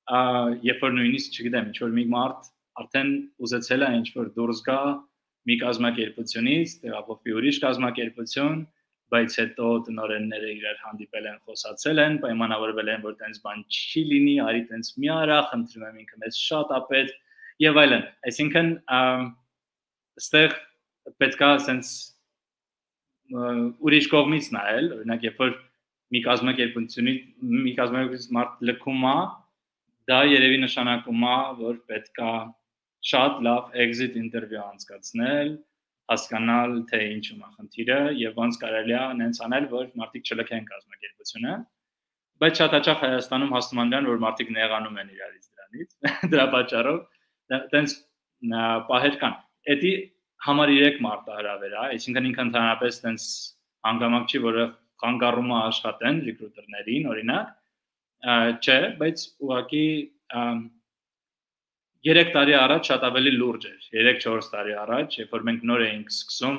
երբ որ նույնիսկ չգիտեմ, ինչ որ մի մարդ արդեն ուզեցել է ինչ որ դուրս գա մի կազմակերպությունից, տեղափոխվի ուրիշ կազմակերպություն, բայց հետո տնօրենները իրար հանդիպել են, խոսացել են, պայմանավորվել են, որ տենց բան չի լինի, արի տենց մի արա, խնդրում եմ ինքը մեզ շատ է պետք եւ այլն։ Այսինքն այստեղ պետքա sense ուրիշ կողմից նայել, օրինակ երբ որ մի կազմակերպությունից մարդ լքում է, դա երևի նշանակում է, որ պետքա շատ լավ exit interview անցկացնել, հասկանալ թե ինչու է խնդիրը եւ ոնց կարելի է նենց անել, որ մարդիկ չլքեն կազմակերպությունը, բայց շատ հաճախ Հայաստանում հասնում են դրան, որ մարդիկ նեղանում են իրարից դրանից, դրա պատճառով տենց պահեր կան։ Էդի համար 3 մարտահրավեր է, այսինքն ինքը ընդհանրապես տենց հանգամանք չի, որը խանգարումը աշխատեն recruiter-ներին, օրինակ, չէ, բայց ուղղակի 3 տարի առաջ շատ ավելի լուրջ էր, 3-4 տարի առաջ, երբ որ մենք նոր էինք սկսում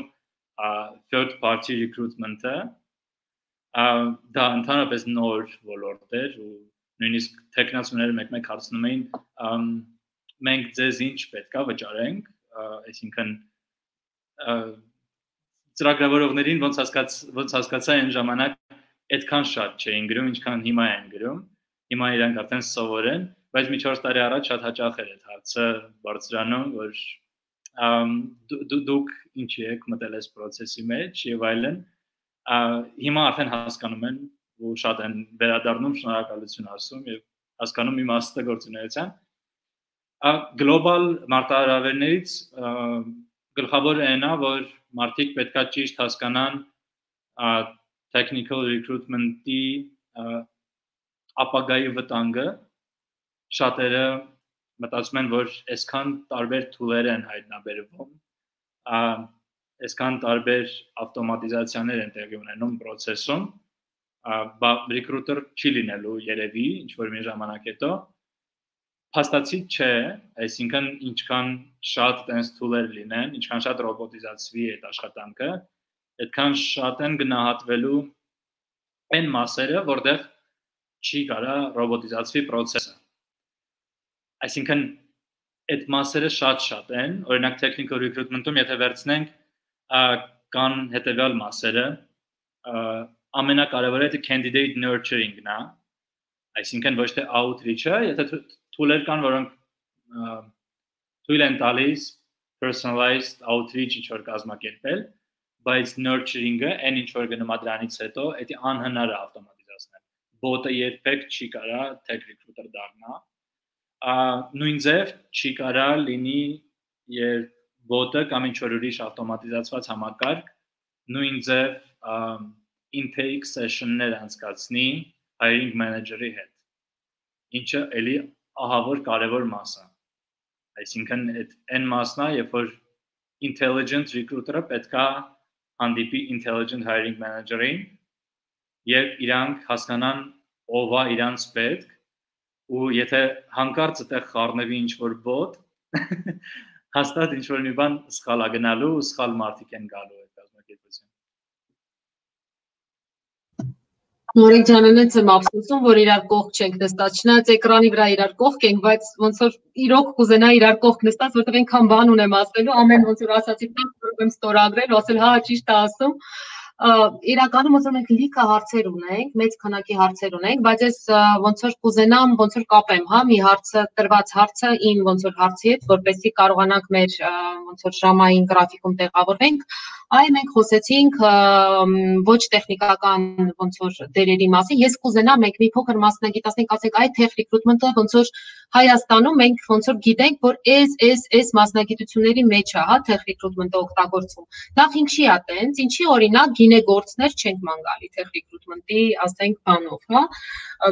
third party recruitment-ը, դա ընդհանրապես նոր ոլորտ էր ու նույնիսկ տեխնացուները մեկ-մեկ հարցնում էին մենք ձեզ ինչ պետք է վճարենք, այսինքն ծրագրավորողներին ոնց հասկացա այն ժամանակ այդքան շատ չէին գրում, ինչքան հիմա են գրում, հիմա իրանք արդեն սովոր են, բայց մի 4 տարի առաջ շատ հաճախ էր այդ հարցը բարձրանում, որ դուք ինչի եք մտել այս process-ի մեջ եւ այլն, հիմա արդեն հասկանում են ու շատ են վերադառնում շնորհակալություն ասում եւ հասկանում իմաստը գործունեության գլոբալ մարտահրավերներից գլխավորը այն է, որ մարդիկ պետքա ճիշտ հասկանան technical recruitment-ի ապագայի վտանգը շատերը մտածում են, որ այսքան տարբեր tool-եր են հայտնաբերվում, այսքան տարբեր ավտոմատիզացիաներ են տեղի ունենում process-ում, recruiter չի լինելու երևի ինչ-որ մի ժամանակ հետո, փաստացի չէ, այսինքն ինչքան շատ տենց tool-եր լինեն, ինչքան շատ ռոբոտիզացվի այդ աշխատանքը, այդքան շատ են գնահատվելու այն մասերը, որտեղ չի կարա ռոբոտիզացվի process-ը։ Այսինքն այդ մասերը շատ են, օրինակ technical recruitment-ում եթե վերցնենք կան հետևյալ մասերը, ամենակարևորը դա candidate nurturing-ն է, այսինքն ոչ թե outreach-ը, եթե tool-եր կան, որոնք թույլ են տալիս personalized outreach ինչ-որ կազմակերպել, բայց nurturing-ը, այն ինչ-որ գնում է դրանից հետո, դա անհնար է ավտոմատիզացնել։ Bot-ը երբեք չի կարա tech recruiter դառնա։ Նույն ձև չի կարա լինի երբ bot-ը կամ ինչ-որ ուրիշ ավտոմատիզացված համակարգ նույն ձև intake session-ներ անցկացնի hiring manager-ի հետ, ինչը էլի ահավոր կարևոր մաս է։ Այսինքն այն մասն է, երբ որ intelligent recruiter-ը պետքա հանդիպի intelligent hiring manager-ին եւ իրանք հասկանան ով է իրանց պետք ու եթե հանկարծ այդտեղ խառնվի ինչ-որ bot, հաստատ ինչ-որ մի բան սխալ է գնալու ու սխալ մարդիկ են գալու այդ կազմակերպություն։ Նորեկ ջանանից եմ ափսոսում, որ իրար կողք չենք նստած, չնայած էկրանի վրա իրար կողք ենք, բայց ոնց որ իրոք կուզենա իրար կողք նստած, որտեղ այնքան բան ունեմ ասելու, ամեն ոնց որ ասացի, որ եմ ստորագրել, ու ասել, հա, ճիշտ է ասում։ Իրականում ոնց որ մենք լիքը հարցեր ունենք, մեծ քանակի հարցեր ունենք, բայց ես ոնց որ կուզենամ, ոնց որ կապեմ, հա, մի հարցը, տրված հարցը իմ ոնց որ հարցի հետ, որպեսզի կարողանանք մեր ոնց որ ժամային գրաֆիկում տեղավորվենք, այ մենք խոսեցինք ոչ տեխնիկական ոնց որ դերերի մասին, ես կուզենամ մենք մի փոքր մասնագիտացնենք, ասենք այ tech recruitment-ը ոնց որ Հայաստանում մենք ոնց որ գիտենք, որ այս մասնագիտությունների մեջ է, հա, tech recruitment-ը օգտագործվում։ Նախ ինչի է տենց, ինչի օրինակ գինեգործներ չենք ման գալի tech recruitment-ի, ասենք բանով, հա։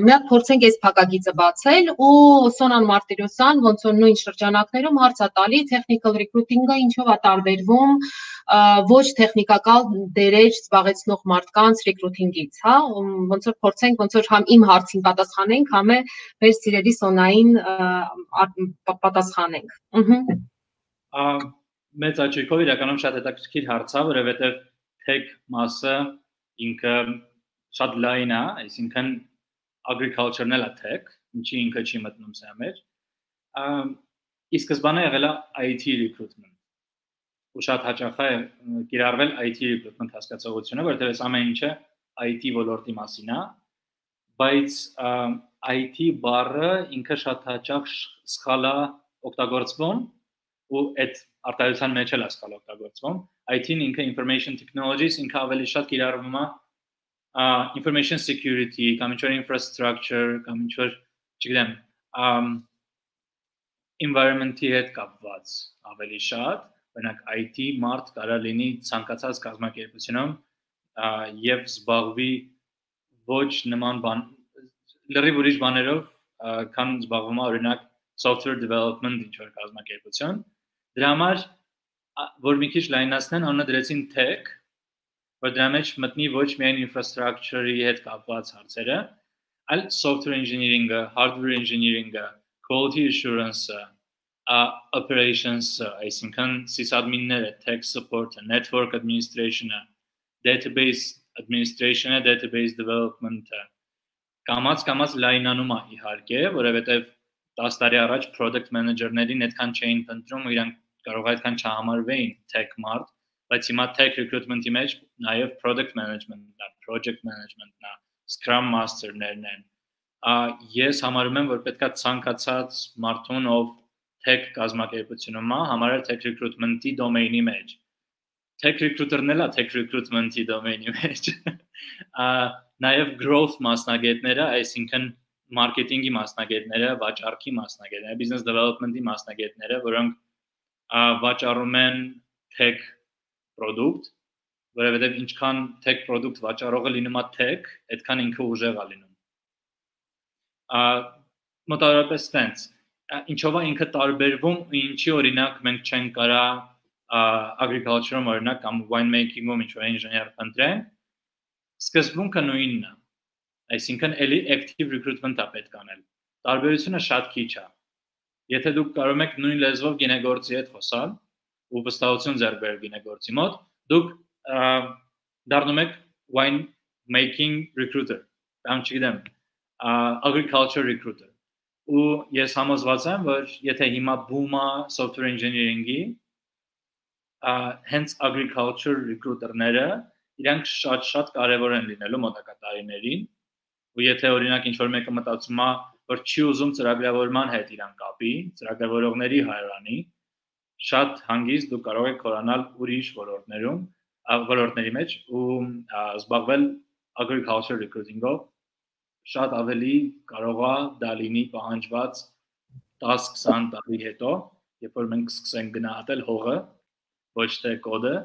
Մի հատ փորձենք այս փակագիծը բացել ու Սոնան Մարտիրոսյան ոնց որ նույն շրջանակներում հարց է տալի technical recruiting-ը ինչով է տարբերվում ոչ տեխնիկական դերեր զբաղեցնող մարդկանց recruiting-ից, հա, ոնց որ փորձենք ոնց որ համ իմ հարցին պատասխանենք, համ է մեր սիրելի Սոնային պատասխանենք։ Մեծ աչքով իրականում շատ հետաքրքիր հարց է, որովհետև tech մասը ինքը շատ լայն է, այսինքն agriculture-ն էլ է tech, ինչի ինքը չի մտնում սա մեր։ Ի սկզբանե եղել է IT recruitment։ Ու շատ հաճախ է կիրառվել IT recruitment հասկացողությունը, որովհետև այս ամեն ինչը IT ոլորտի մասին է, բայց IT բառը ինքը շատ հաճախ սխալ է օգտագործվում ու այդ արտահայտության մեջ էլ է սխալ օգտագործվում։ IT-ն ինքը information technologies ինքը ավելի շատ կիրառվում է information security կամ ինչ-որ infrastructure կամ ինչ-որ, չգիտեմ, environment-ի հետ կապված ավելի շատ, օրինակ IT մարդ կարա լինի ցանկացած կազմակերպությունում եւ զբաղվի ոչ նման բան, լրիվ ուրիշ բաներով, քան զբաղվում է օրինակ software development ինչ-որ կազմակերպություն։ Դրա համար որ մի քիչ լայնացնեն, անունը դրեցին tech, որ դրա մեջ մտնի ոչ միայն infrastructure-ի հետ կապված հարցերը, այլ software engineering-ը, hardware engineering-ը, quality assurance-ը, operations-ը, այսինքն sysadmin-ները, tech support-ը, network administration-ը, database administration-ը, database development-ը, կամած լայնանում է իհարկե, որովհետև 10 տարի առաջ product manager-ներին այդքան չէին ընտրում, իրանք կարող այդքան չհամարվեին tech մարդ, բայց հիմա tech recruitment-ի մեջ նաև product management-ն է, project management-ն է, scrum master-ներն են։ Ես համարում եմ, որ պետքա ցանկացած մարդուն, ով tech կազմակերպությունում է, համարել tech recruitment-ի դոմեյնի մեջ։ Tech recruiter-ն էլ է tech recruitment-ի դոմեյնի մեջ։ Նաև growth մասնագետները, այսինքն marketing-ի մասնագետները, վաճառքի մասնագետները, business development-ի մասնագետները, որոնք վաճառում են tech product, որովհետև ինչքան tech product վաճառողը լինում է tech, այդքան ինքը ուժեղ է լինում։ Մոտավորապես տենց, ինչով է ինքը տարբերվում, ինչի օրինակ մենք չենք կարա agriculture-ում օրինակ կամ winemaking-ում ինչ-որ ինժեներ ընտրենք, սկզբունքը նույնն է։ Այսինքն էլի active recruitment-ը պետք անել։ Տարբերությունը շատ քիչ է։ Եթե դուք կարող եք նույն լեզվով գինեգործի հետ խոսալ ու վստահություն ձեռք բերել գինեգործի մոտ, դուք դառնում եք wine making recruiter, կամ չգիտեմ, agriculture recruiter։ Ու ես համոզված եմ, որ եթե հիմա boom-ը software engineering-ի, hence agriculture recruiter-ները իրանք շատ կարևոր են լինելու մոտակա տարիներին։ Ու եթե օրինակ ինչ-որ մեկը մտածում է, որ չի ուզում ծրագրավորման հետ իրան կապի, ծրագրավորողների հայրանի, շատ հանգիստ դուք կարող եք խորանալ ուրիշ ոլորտների մեջ ու զբաղվել agriculture recruiting-ով, շատ ավելի կարող է դա լինի պահանջված 10-20 տարի հետո, երբ որ մենք սկսենք գնահատել հողը, ոչ թե կոդը։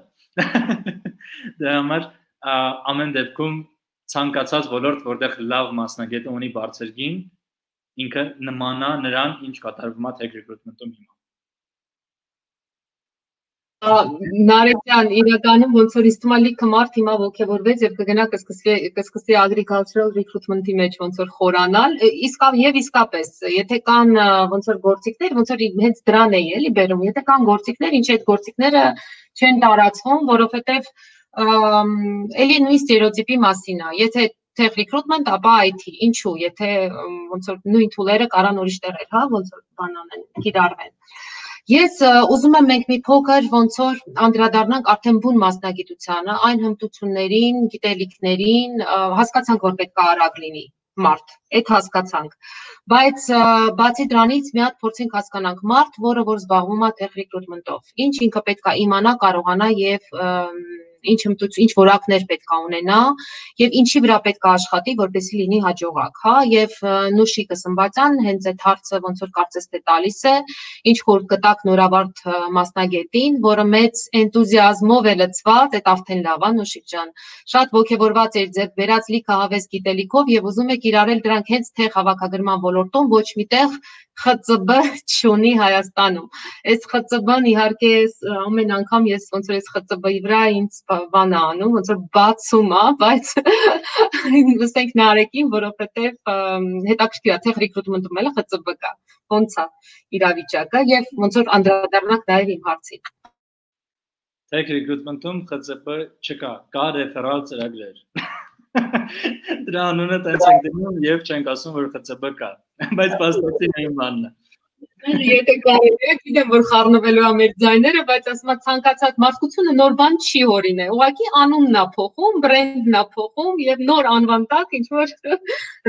Դրա համար ամեն դեպքում ցանկացած ոլորտ, որտեղ լավ մասնագետը ունի բարձր գին, ինքը նմանա նրան, ինչ կատարվում է tech recruitment-ում հիմա։ Նարեկյան, իրականում ոնց որ ինձ թվում է լիքը մարդ հիմա ոգևորվեց եւ կգնա կսկսի agricultural recruitment-ի մեջ ոնց որ խորանալ, իսկապես, եթե կան ոնց որ գործիքներ, ոնց որ հենց դրան էի էլի բերում, եթե կան գործիքներ, ինչ այդ գործիքները չեն տարածվում, որովհետեւ էլի նույն ստերեոտիպի մասին է, եթե tech recruitment, ապա IT, ինչու, եթե ոնց որ նույն tool-երը կարան ուրիշ տեղեր, հա, ոնց որ բանանեն, կիրառվեն։ Ես ուզում եմ մենք մի փոքր ոնց որ անդրադառնանք արդեն բուն մասնագիտությանը, այն հմտություններին, գիտելիքներին, հասկացանք, որ պետք է արագ լինի մարդ, այդ հասկացանք։ Բայց բացի դրանից մի հատ փորձենք հասկանանք մարդ, որը որ զբաղվում է tech recruitment-ով, ինչ ինքը պետք է իմանա, կարողանա եւ ինչ որակներ պետք է ունենա եւ ինչի վրա պետք է աշխատի, որպեսզի լինի հաջողակ, հա, եւ Նուշիկը Սմբատյան հենց այդ հարցը ոնց որ կարծես թե տալիս է, ինչ որ կտակ նորավարտ մասնագետին, որը մեծ էնտուզիազմով է լցված, այդ արդեն լավ է Նուշիկ ջան, շատ ոգևորված էր ձեր վերած լիքը հավես գիտելիքով եւ ուզում է կիրառել դրանք հենց թե հավաքագրման ոլորտում, ոչ միտեղ ԽԾԲ չունի Հայաստանում։ Այս ԽԾԲ-ն իհարկե ամեն անգամ ես ոնց որ այս ԽԾԲ-ի վրա ինձ բան է անում, ոնց որ բացում է, բայց լսենք Նարեկին, որովհետև հետաքրքիր է, tech recruitment-ում էլ ԽԾԲ կա, ոնց է իրավիճակը եւ ոնց որ անդրադառնանք նաեւ իմ հարցին։ Tech recruitment-ում ԽԾԲ չկա, կա ռեֆերալ ծրագրեր։ Դրա անունը տենց ենք դնում եւ չենք ասում, որ ԽԾԲ կա, բայց փաստացի այն բանն է։ Եթե կարելի է, գիտեմ, որ խառնվելու է մեր ձայները, բայց ասում եմ ցանկացած մարդկությունը նոր բան չի հորինել։ Ուղղակի անունն է փոխում, բրենդն է փոխում եւ նոր անվան տակ ինչ որ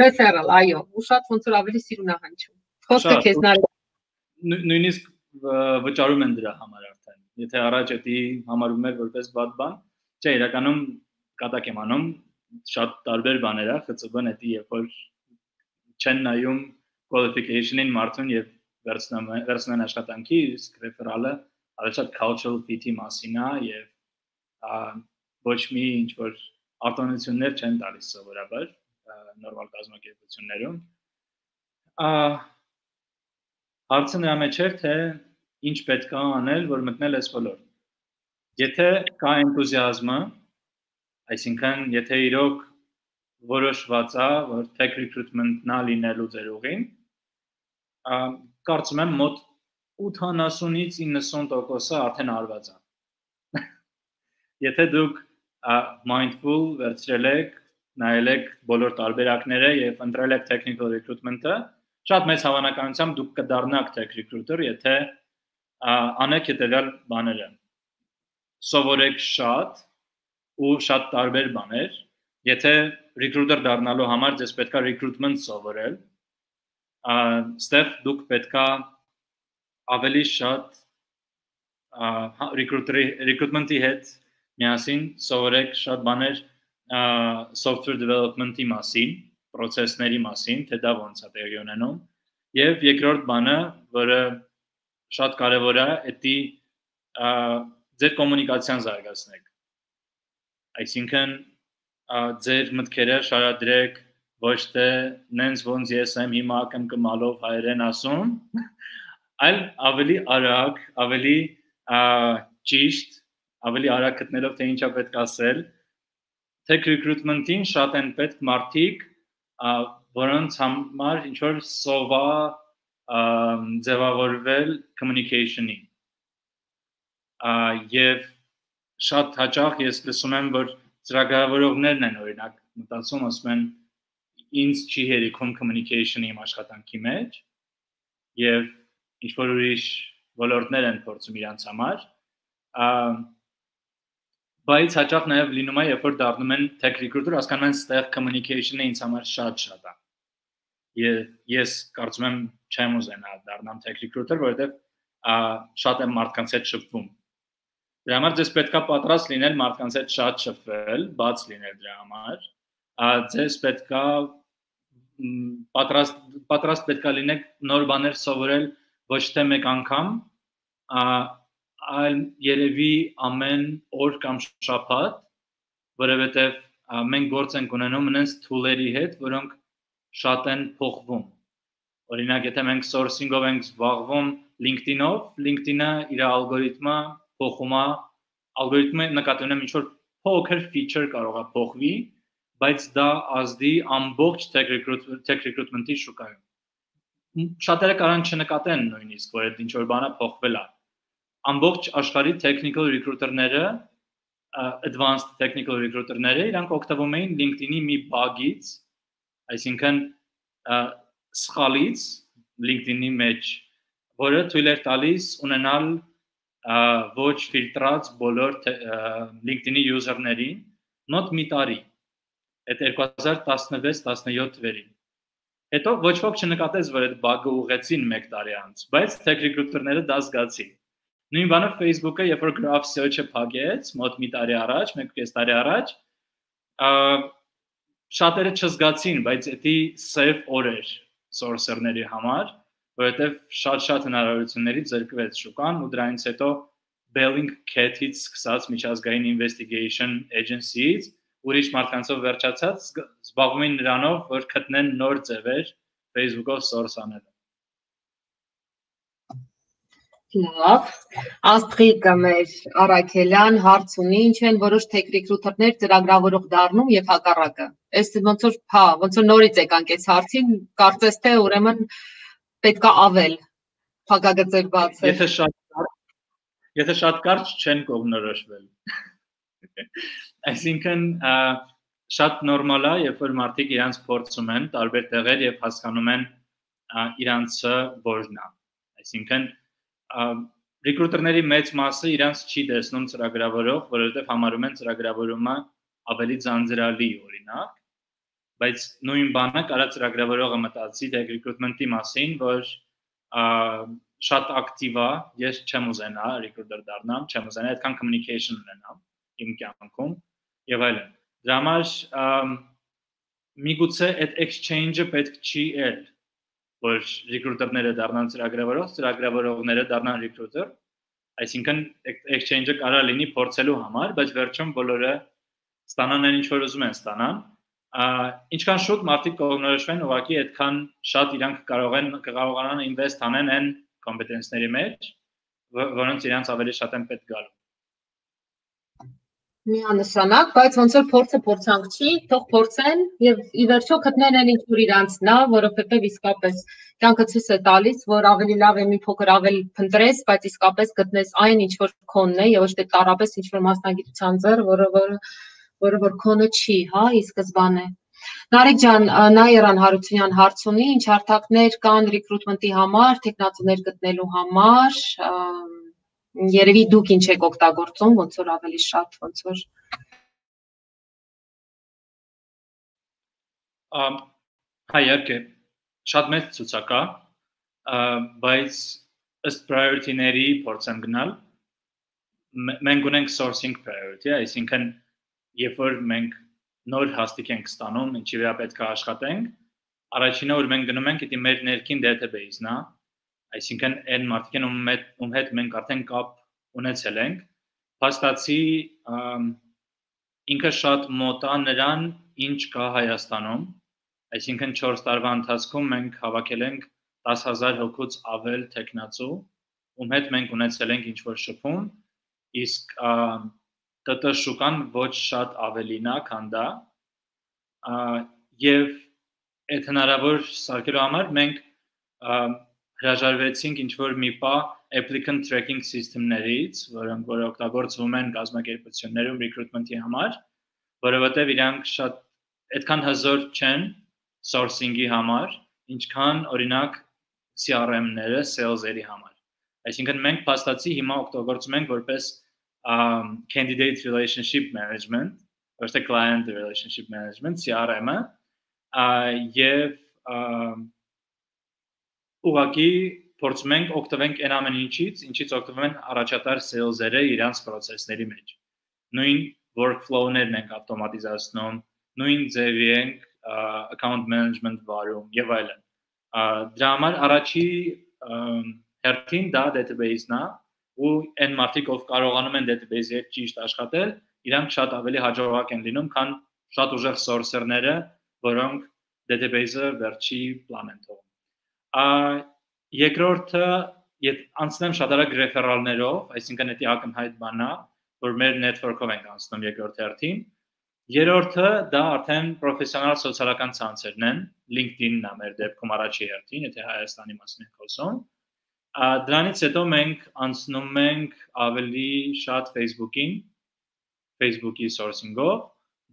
referral, այո, ու շատ ոնց որ ավելի սիրուն է հնչում։ Խոսքը քեզ Նարեկ։ Նույնիսկ վճարում են դրա համար արդեն։ Եթե առաջ էդի համարում էր որպես վատ բան, չէ, իրականում կատակ եմ անում, շատ տարբեր բաներ է, ԽԾԲ-ն էդի երբ որ չեն նայում qualification-ին մարդուն եւ վերցնեն աշխատանքի, իսկ ռեֆերալը ավելի շատ cultural fit-ի մասին է եւ ոչ մի ինչ որ արտոնություններ չեն տալիս սովորաբար նորմալ կազմակերպություններում։ Հարցը նրա մեջ էր, թե ինչ պետք է անել, որ մտնել այս ոլորտ։ Եթե կա էնտուզիազմը, Այսինքն, եթե իրոք որոշված է, որ tech recruitment-ն լինելու ձեր ուղին, կարծում եմ մոտ 80-ից 90%-ը արդեն արված է։ Եթե դուք mindful վերցրել եք, նայել եք բոլոր տարբերակները եւ ընտրել եք technical recruitment-ը, շատ մեծ հավանականությամբ դուք կդառնաք tech recruiter, եթե անեք հետեւյալ բաները։ Սովորեք շատ ու շատ տարբեր բաներ, եթե recruiter դառնալու համար ձեզ պետքա recruitment սովորել, ստեղ դուք պետքա ավելի շատ recruitment-ի հետ միասին սովորեք շատ բաներ software development-ի մասին, process-ների մասին, թե դա ոնց է տեղի ունենում, եւ երկրորդ բանը, որը շատ կարեւոր է, դա ձեր կոմունիկացիան զարգացնեք։ Այսինքն ձեր մտքերը շարադրեք ոչ թե նենց ոնց ես եմ հիմա կմկմալով հայերեն ասում, այլ ավելի արագ, ավելի ճիշտ, ավելի արագ գտնելով թե ինչա պետք ասել, tech recruitment-ին շատ են պետք մարդիկ, որոնց համար ինչ որ սովա ձևավորվել communication-ի։ Եվ շատ հաճախ ես լսում եմ, որ ծրագրավորողներն են օրինակ մտածում, ասում են ինձ չի հերիքում communication-ի իմ աշխատանքի մեջ եւ ինչ որ ուրիշ ոլորտներ են փորձում իրանց համար, բայց հաճախ նաեւ լինում է, երբ որ դառնում են tech recruiter, հասկանում են ստեղ communication-ը ինձ համար շատ է։ Եվ ես կարծում եմ չեմ ուզենա դառնամ tech recruiter, որովհետեւ շատ եմ մարդկանց հետ շփվում։ Դրա համար ձեզ պետքա պատրաստ լինել մարդկանց հետ շատ շփվել, բաց լինել դրա համար։ Ձեզ պետքա պատրաստ պետքա լինեք նոր բաներ սովորել ոչ թե մեկ անգամ, այլ երևի ամեն օր կամ շաբաթ, որովհետև մենք գործ ենք ունենում նենց tool-երի հետ, որոնք շատ են փոխվում։ Օրինակ, եթե մենք sourcing-ով ենք զբաղվում LinkedIn-ով, LinkedIn-ը իր ալգորիթմը փոխում է, ալգորիթմը նկատի ունեմ ինչ որ փոքր feature կարող է փոխվի, բայց դա ազդի ամբողջ tech recruitment-ի շուկայում։ Շատերը կարող չնկատեն նույնիսկ, որ այդ ինչ որ բանը փոխվել է։ Ամբողջ աշխարհի technical recruiter-ները, advanced technical recruiter-ները, իրանք օգտվում էին LinkedIn-ի մի bug-ից, այսինքն սխալից LinkedIn-ի մեջ, որը թույլ էր տալիս ունենալ ոչ ֆիլտրած բոլոր LinkedIn-ի user-ներին մոտ մի տարի։ Այդ 2016-17 թվերին։ Հետո ոչ ոք չնկատեց, որ այդ bug-ը ուղղեցին 1 տարի անց, բայց tech recruiter-ները դա զգացին։ Նույն բանը Facebook-ը, երբ որ graph search-ը փակեց մոտ մի տարի առաջ, 1.5 տարի առաջ, շատերը չզգացին, բայց դա safe օր էր sourcer-ների համար, որովհետև շատ հնարավորություններից զրկվեց շուկան ու դրանից հետո Bellingcat-ից սկսած միջազգային investigation agency-ից ուրիշ մարդկանցով վերջացած զբաղվում են նրանով, որ գտնեն նոր ձևեր Facebook-ով source անելու։ Լավ, Աստղիկ մեր Արաքելյան հարց ունի, ինչ են որոշ tech recruiter-ներ ծրագրավորող դառնում եւ հակառակը։ Այս ոնց որ նորից եկանք այս հարցին, կարծես թե ուրեմն պետքա ավել փակագծեր բացել։ Եթե շատ կարճ չեն կողմնորոշվել։ Այսինքն շատ նորմալ է, երբ որ մարդիկ իրանց փորձում են տարբեր տեղեր եւ հասկանում են իրանցը որն է։ Այսինքն recruiter-ների մեծ մասը իրանց չի տեսնում ծրագրավորող, որովհետեւ համարում են ծրագրավորումը ավելի ձանձրալի օրինակ, բայց նույն բանը կարա ծրագրավորողը մտածի թե recruitment-ի մասին, որ շատ ակտիվ է, ես չեմ ուզենա recruiter դառնամ, չեմ ուզենա այդքան communication ունենամ իմ կյանքում եւ այլն։ Դրա համար միգուցե այդ exchange-ը պետք չի էլ, որ recruiter-ները դառնան ծրագրավորող, ծրագրավորողները դառնան recruiter, այսինքն exchange-ը կարա լինի փորձելու համար, բայց վերջում բոլորը ստանան այն ինչ որ ուզում են ստանան։ Ինչքան շուտ մարդիկ կողմնորոշվեն, ուղղակի այդքան շատ իրանք կարողանան invest անեն այն competence-ների մեջ, որոնց իրանց ավելի շատ են պետք գալու։ Միանշանակ, բայց ոնց որ փորձը փորձանք չի, թող փորձեն եւ ի վերջո գտնեն այն ինչ որ իրանցն է, որովհետեւ իսկապես կյանքը ցույց է տալիս, որ ավելի լավ է մի փոքր ավել փնտրես, բայց իսկապես գտնես այն ինչ որ քոնն է եւ ոչ թե տարապես ինչ որ մասնագիտության ձեռ, որը որ քոնը չի, հա, ի սկզբանե։ Նարեկ ջան, Նաիրան Հարությունյան հարց ունի, ինչ հարթակներ կան ռիկրուտմենտի համար, տեխնացուներ գտնելու համար, երևի դուք ինչ եք օգտագործում, ոնց որ ավելի շատ, ոնց որ Հա, իհարկե, շատ մեծ ցուցակ է, բայց ըստ priority-ների փորձեմ գնալ, մենք ունենք sourcing priority, այսինքն երբ որ մենք նոր հաստիկ ենք ստանում, ինչի վրա պետք է աշխատենք, առաջինը որ մենք գնում ենք, դա մեր ներքին database-ն է, այսինքն այն մարդիկ ում հետ մենք արդեն կապ ունեցել ենք, փաստացի ինքը շատ մոտ է նրան, ինչ կա Հայաստանում, այսինքն 4 տարվա ընթացքում մենք հավաքել ենք 10,000 հոգուց ավել տեխնացու, ում հետ մենք ունեցել ենք ինչ-որ շփում, իսկ ՏՏ շուկան ոչ շատ ավելին է, քան դա, եւ այդ հնարավոր սարքելու համար մենք հրաժարվեցինք ինչ-որ մի պահ applicant tracking system-ներից, որոնք որ օգտագործվում են կազմակերպություններում recruitment-ի համար, որովհետև իրանք շատ այդքան հզոր չեն sourcing-ի համար, ինչքան օրինակ CRM-ները sales-երի համար։ Այսինքն մենք փաստացի հիմա օգտագործում ենք որպես candidate relationship management, ոչ թե client relationship management, CRM-ը, եւ ուղղակի փորձում ենք օգտվենք այն ամեն ինչից օգտվում են առաջատար sales-երը իրանց process-ների մեջ։ Նույն workflow-ներն ենք ավտոմատիզացնում, նույն ձևի ենք account management վարում եւ այլն։ Դրա համար առաջի հերթին դա database-ն է, ու այն մարդիկ ով կարողանում են database-ի հետ ճիշտ աշխատել, իրանք շատ ավելի հաջողակ են լինում, քան շատ ուժեղ sourcer-ները, որոնք database-ը վերջի պլան են թողում։ Երկրորդը անցնեմ շատ արագ ռեֆերալներով, այսինքն դա ակնհայտ բան է, որ մեր network-ով ենք անցնում երկրորդ հերթին։ Երրորդը դա արդեն պրոֆեսիոնալ սոցիալական ցանցերն են, LinkedIn-ն է մեր դեպքում առաջի հերթին, եթե Հայաստանի մասին ենք խոսում։ Դրանից հետո մենք անցնում ենք ավելի շատ Facebook-ին, Facebook-ի sourcing-ով,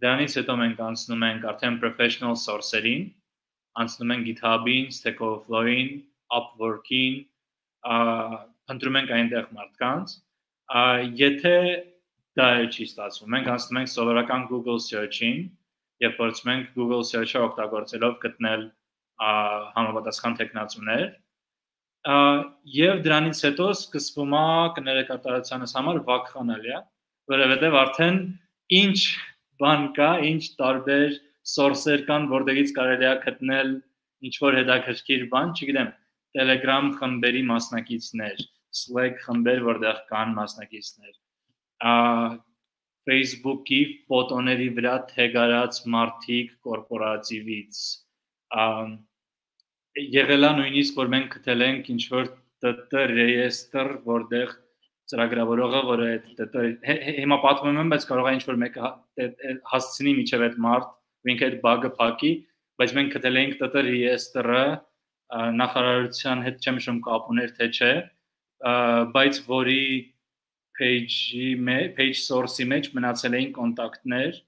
դրանից հետո մենք անցնում ենք արդեն professional source-երին, անցնում ենք GitHub-ին, Stack Overflow-ին, Upwork-ին, ընտրում ենք այնտեղ մարդկանց, եթե դա չի ստացվում, մենք անցնում ենք սովորական Google search-ին եւ փորձում ենք Google search-ը օգտագործելով գտնել համապատասխան տեխնացուներ, եւ դրանից հետո սկսվում է կներեկատարությունս համար վակխանալիա, որովհետեւ արդեն ինչ բան կա, ինչ տարբեր source-եր կան, որտեղից կարելի է գտնել ինչ-որ հետաքրքիր բան, չգիտեմ, Telegram խմբերի մասնակիցներ, Slack խմբեր, որտեղ կան մասնակիցներ, Facebook-ի ֆոտոների վրա թեգարած մարդիկ կորպորատիվից, եղել է նույնիսկ, որ մենք գտել ենք ինչ-որ ՏՏ ռեյեստր, որտեղ ծրագրավորողը, որը հիմա պատմում եմ, բայց կարող է ինչ-որ մեկը հասցնի միջև այդ մարդ, ու ինքը այդ բագը փակի, բայց մենք գտել ենք ՏՏ ռեյեստրը նախարարության հետ չեմ հիշում կապ ուներ թե չէ, բայց որի page source-ի մեջ մնացել էին կոնտակտներ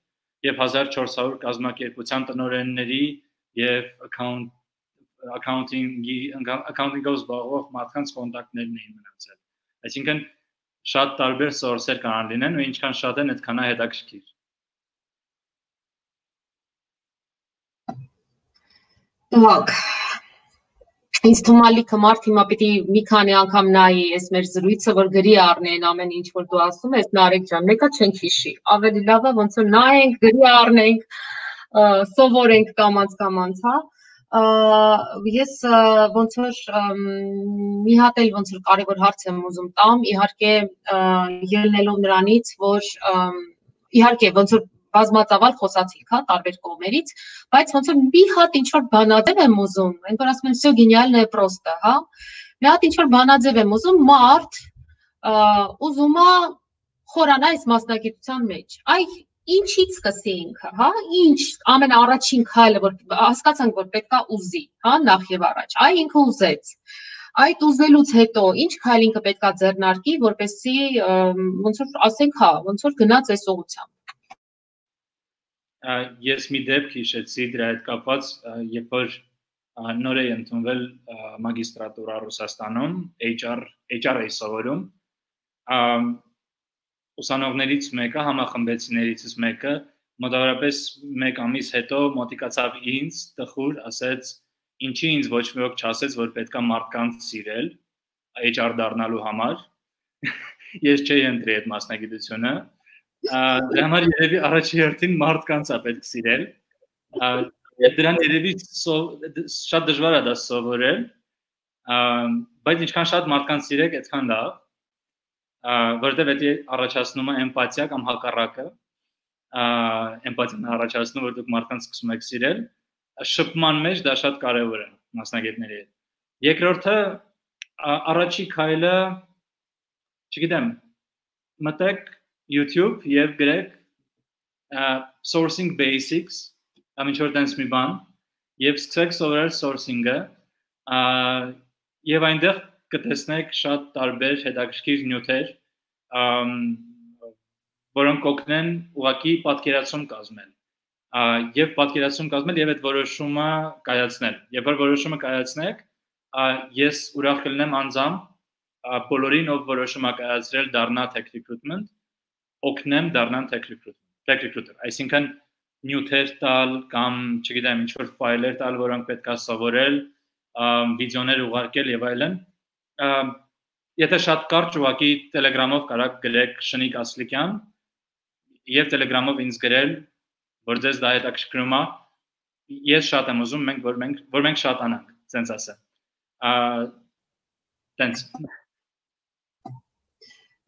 եւ 1400 կազմակերպության տնօրենների եւ accounting-ով զբաղվող մարդկանց կոնտակտներն էին մնացել։ Այսինքն շատ տարբեր source-եր կարող լինեն ու ինչքան շատ են, այդքան է հետաքրքիր։ Так. Ինձ թվում է լիքը մարդ հիմա պիտի մի քանի անգամ նայի այս մեր զրույցը, որ գրի առնի այն ամեն ինչ, որ դու ասում ես, Նարեկ ջան, մեկը չենք հիշի։ Ավելի լավ է ոնց որ նայենք, գրի առնենք, սովորենք կամած, հա։ Ես ոնց որ մի հատ էլ ոնց որ կարևոր հարց եմ ուզում տամ, իհարկե ելնելով նրանից, որ իհարկե ոնց որ բազմածավալ խոսացիք, հա, տարբեր կողմերից, բայց ոնց որ մի հատ ինչ-որ բանաձև եմ ուզում, այն որ ասում են, всё гениальное просто, հա։ Մի հատ ինչ-որ բանաձև եմ ուզում, մարդ ուզում է խորանա այս մասնագիտության մեջ։ Այ ինչից սկսի ինքը, հա, ինչ ամենաառաջին քայլը, որ հասկացանք, որ պետքա ուզի, հա, նախ եւ առաջ։ Այ ինքը ուզեց։ Այդ ուզելուց հետո ինչ քայլ ինքը պետքա ձեռնարկի, որպեսզի ոնց որ ասենք, հա, ոնց որ գնաց այս ուղղությամբ։ Ես մի դեպք հիշեցի դրա հետ կապված, երբ որ նոր է ընդունվել մագիստրատուրա Ռուսաստանում, HR-ի սովորում, ուսանողներից մեկը, համախմբեցիներից մեկը, մոտավորապես 1 ամիս հետո մոտիկացավ ինձ, տխուր, ասեց, ինչի ինձ ոչ մի ոք չասեց, որ պետքա մարդկանց սիրել HR դառնալու համար։ Ես չէի ընտրի այդ մասնագիտությունը։ Դրա համար երևի առաջի հերթին մարդկանց է պետք սիրել։ Դրան երևի շատ դժվար է դա սովորել, բայց ինչքան շատ մարդկանց սիրեք, այդքան լավ, որտեղ դա առաջացնում է էմպաթիա կամ հակառակը, էմպաթիան առաջացնում, որ դուք մարդկանց սկսում եք սիրել, շփման մեջ դա շատ կարևոր է մասնագետների հետ։ Երկրորդը առաջի քայլը, չգիտեմ, մտեք YouTube եւ գրեք sourcing basics, կամ ինչ-որ տենց մի բան, եւ սկսեք սովորել sourcing-ը, եւ այնտեղ կտեսնեք շատ տարբեր հետաքրքիր նյութեր, որոնք կօգնեն ուղղակի պատկերացում կազմել, եւ պատկերացում կազմել եւ այդ որոշումը կայացնել։ Երբ որ որոշումը կայացնեք, ես ուրախ կլինեմ անձամբ բոլորին, ով որոշում է կայացրել դառնա tech recruitment, օգնեմ դառնան tech recruiter, այսինքն նյութեր տալ կամ չգիտեմ ինչ-որ ֆայլեր տալ, որոնք պետքա սովորել, վիդեոներ ուղարկել եւ այլն։ Եթե շատ կարճ ուղղակի Telegram-ով կարաք գրեք Շնիկ Ասլիկյան եւ Telegram-ով ինձ գրել, որ ձեզ դա հետաքրքրում է, ես շատ եմ ուզում, որ մենք շատանանք, ասենց ասեմ։ Տենց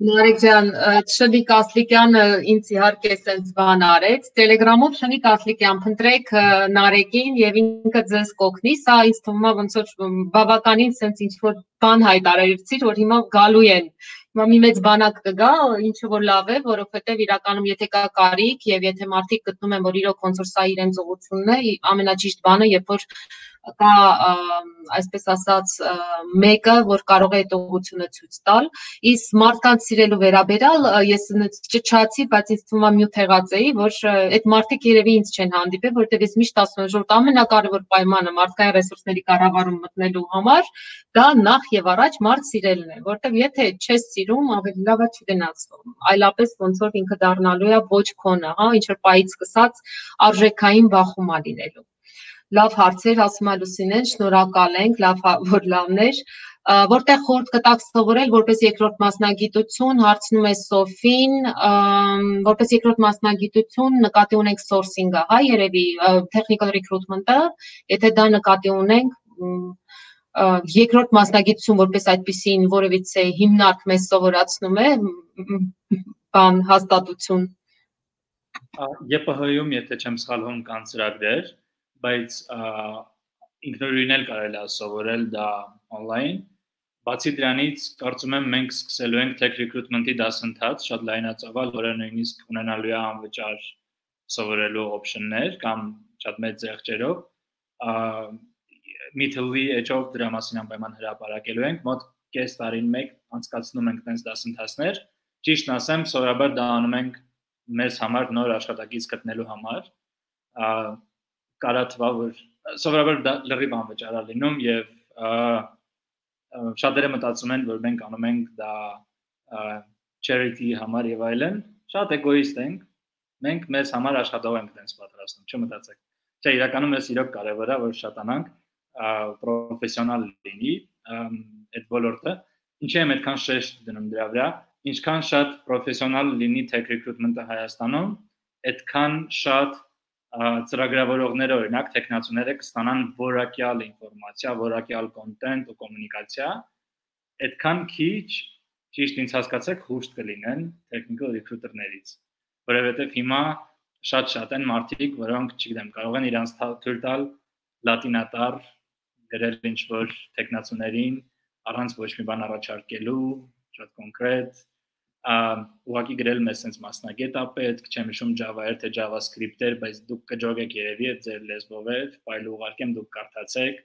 Նարեկ ջան, Շնիկ Ասլիկյանը ինձ իհարկե սենց բան արեց, Telegram-ով Շնիկ Ասլիկյան փնտրեք Նարեկին եւ ինքը ձեզ կօգնի, սա ինձ թվում է ոնց որ բավականին սենց ինչ որ բան հայտարարեցիր, որ հիմա գալու են։ Հիմա մի մեծ բանակ կգա, ինչը որ լավ է, որովհետեւ իրականում եթե կա կարիք եւ եթե մարդիկ գտնում են, որ իրոք ոնց որ սա իրենց ուղղությունն է, ամենաճիշտ բանը, երբ որ կա այսպես ասած մեկը, որ կարող է այդ ուղղությունը ցույց տալ, իսկ մարդկանց սիրելու վերաբերալ ես չչացի, բայց ինձ թվում է մյուտ եղած էի, որ այդ մարդիկ երևի ինձ չեն հանդիպել, որտեղ ես միշտ ասում եմ, որ ամենակարևոր պայմանը մարդկային ռեսուրսների կառավարում մտնելու համար դա նախ եւ առաջ մարդ սիրելն է, որտեղ եթե չես սիրում, ավելի լավ է չգնաց, այլապես ոնց որ ինքը դառնալու է ոչ քոնը, հա, ինչ որ պայից սկսած արժեքային բախում է լինելու։ Լավ հարցեր, ասում է Լուսինեն, շնորհակալ ենք, լավ որ լավներ, որտեղ խորհուրդ կտաք սովորել որպես երկրորդ մասնագիտություն, հարցնում է Սոֆին, որպես երկրորդ մասնագիտություն նկատի ունենք sourcing-ը, հա, երևի technical recruitment-ը, եթե դա նկատի ունենք, երկրորդ մասնագիտություն որպես այդպիսին որևիցե հիմնարկ մեզ սովորացնում է բան հաստատություն։ ԵՊՀ-ում, եթե չեմ սխալվում, կան ծրագրեր, բայց ինքնուրույն էլ կարելի է սովորել դա on-line։ Բացի դրանից, կարծում եմ մենք սկսելու ենք tech recruitment-ի դասընթաց, շատ լայնածավալ, որը նույնիսկ ունենալու է անվճար սովորելու option-ներ կամ շատ մեծ զեղչերով։ Meet-ly edge-ով դրա մասին անպայման հրապարակելու ենք, մոտ կես տարին մեկ անցկացնում ենք տենց դասընթացներ։ Ճիշտն ասեմ, սովորաբար դա անում ենք մեզ համար նոր աշխատակից գտնելու համար։ Կարա թվա, որ սովորաբար դա լրիվ անվճար է լինում եւ շատերը մտածում են, որ մենք անում ենք դա charity համար եւ այլն, շատ էգոիստ ենք, մենք մեզ համար աշխատող ենք տենց պատրաստում, չմտածեք։ Չէ, իրականում էս իրոք կարևոր է, որ շատանանք պրոֆեսիոնալ լինի այդ ոլորտը, ինչի եմ այդքան շեշտ դնում դրա վրա, ինչքան շատ պրոֆեսիոնալ լինի tech recruitment-ը Հայաստանում, այդքան շատ ծրագրավորողները, օրինակ տեխնացուները կստանան որակյալ ինֆորմացիա, որակյալ կոնտենտ ու կոմունիկացիա, այդքան քիչ, ճիշտ ինձ հասկացեք, հուշտ կլինեն technical recruiter-ներից, որովհետև հիմա շատ են մարդիկ, որոնք, չգիտեմ, կարող են իրանց թույլ տալ լատինատար գրել ինչ-որ տեխնացուներին, առանց ոչ մի բան առաջարկելու, շատ կոնկրետ, ուղղակի գրել մեզ sense մասնագետ է պետք, չեմ հիշում Java-էր թե JavaScript-էր, բայց դուք կջոգեք երևի այդ ձեր լեզվով է, ֆայլը ուղարկեմ, դուք կարդացեք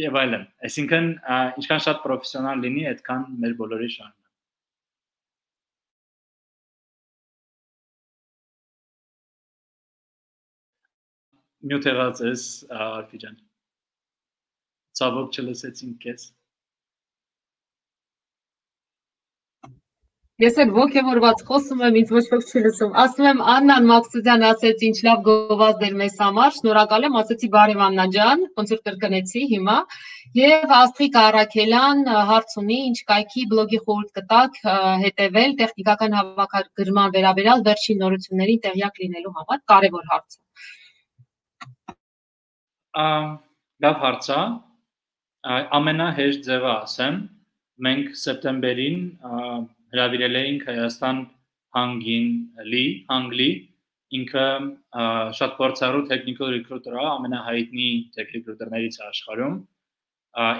եւ այլն։ Այսինքն, ինչքան շատ պրոֆեսիոնալ լինի, այդքան մեր բոլորի շահն է։ Մյուտ եղած ես, Արփի ջան։ Ցավոք չլսեցինք քեզ։ Ես էլ ոգևորված խոսում եմ, ինձ ոչ ոք չի լսում։ Ասում եմ Աննան Մակսուդյան ասեց ինչ լավ գովազդ էր մեզ համար, շնորհակալ եմ, ասեցի բարև Աննա ջան, ոնց որ կրկնեցի հիմա։ Եվ Աստղիկ Արաքելյան հարց ունի, ինչ կայքի բլոգի խորհուրդ կտաք հետևել տեխնիկական հավաքագրման վերաբերյալ վերջին նորություններին տեղյակ լինելու համար, կարևոր հարց է։ Լավ հարց է։ Ամենահեշտ ձևը ասեմ, մենք սեպտեմբերին հրավիրել էինք Հայաստան Հանգլի, ինքը շատ փորձառու technical recruiter է, ամենահայտնի tech recruiter-ներից աշխարհում։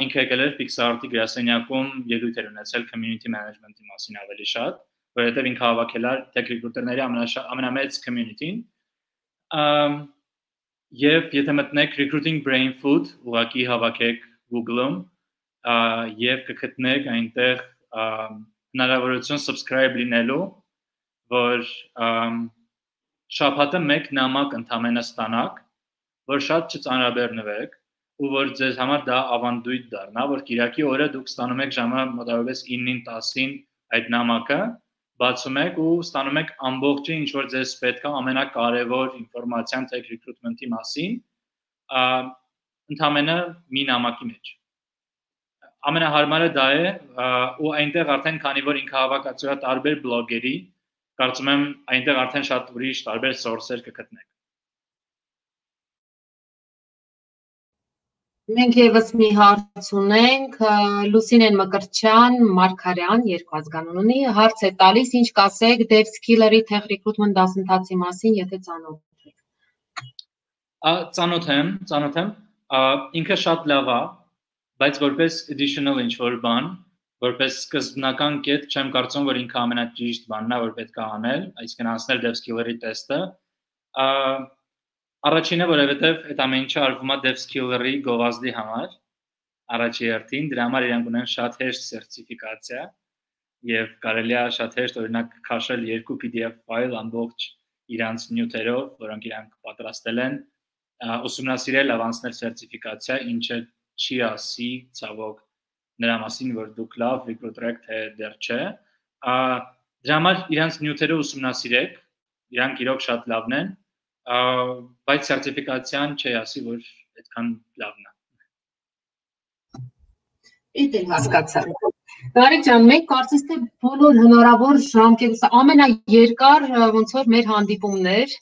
Ինքը եկել էր Pixar-ի գրասենյակում ելույթ էր ունեցել community management-ի մասին ավելի շատ, որովհետև ինքը հավաքել էր tech recruiter-ների ամենամեծ community-ն։ Եվ եթե մտնեք recruiting brain food, ուղղակի հավաքեք Google-ում եւ կգտնեք այնտեղ հնարավորություն subscribe լինելու, որ շաբաթը մեկ նամակ ընդամենը ստանաք, որ շատ չծանրաբեռնվեք ու որ ձեզ համար դա ավանդույթ դառնա, որ Կիրակի օրը դուք ստանում եք ժամը մոտավորապես 9-ին 10-ին այդ նամակը, բացում եք ու ստանում եք ամբողջը ինչ որ ձեզ պետք է ամենակարևոր ինֆորմացիան tech recruitment-ի մասին, ընդամենը մի նամակի մեջ։ Ամենահարմարը դա է ու այնտեղ արդեն քանի որ ինքը հավաքածու է տարբեր բլոգերի, կարծում եմ այնտեղ արդեն շատ ուրիշ տարբեր source-եր կգտնեք։ Մենք եւս մի հարց ունենք, Լուսինեն Մկրտչյան, Մարգարյան, երկու ազգանուն ունի, հարց է տալիս, ինչ կասեք dev skill-երի tech recruitment դասընթացի մասին, եթե ծանոթ եք։ Ծանոթ եմ, ինքը շատ լավ է, բայց որպես additional ինչ-որ բան, որպես սկզբնական կետ, չեմ կարծում, որ ինքը ամենաճիշտ բանն է, որ պետք է անել, այսինքն անցնել dev skill-երի տեստը։ Առաջինը, որովհետև այդ ամեն ինչը արվում է dev skill-երի գովազդի համար, առաջի հերթին, դրա համար իրանք ունեն շատ հեշտ սերտիֆիկացիա եւ կարելի է շատ հեշտ օրինակ քաշել 2 PDF ֆայլ ամբողջ իրանց նյութերով, որոնք իրանք պատրաստել են, ուսումնասիրել, ավանցնել սերտիֆիկացիա, ինչը չի ասի ցավոք նրա մասին, որ դուք լավ recruiter եք, թե դեռ չէ։ Դրա համար իրանց նյութերը ուսումնասիրեք, իրանք իրոք շատ լավն են, բայց սերտիֆիկացիան չի ասի, որ այդքան լավն է։ Իդել հասկացա։ Բարիկ ջան, մենք կարծես թե բոլոր հնարավոր ժամկետը ամենաերկար ոնց որ մեր հանդիպումներ,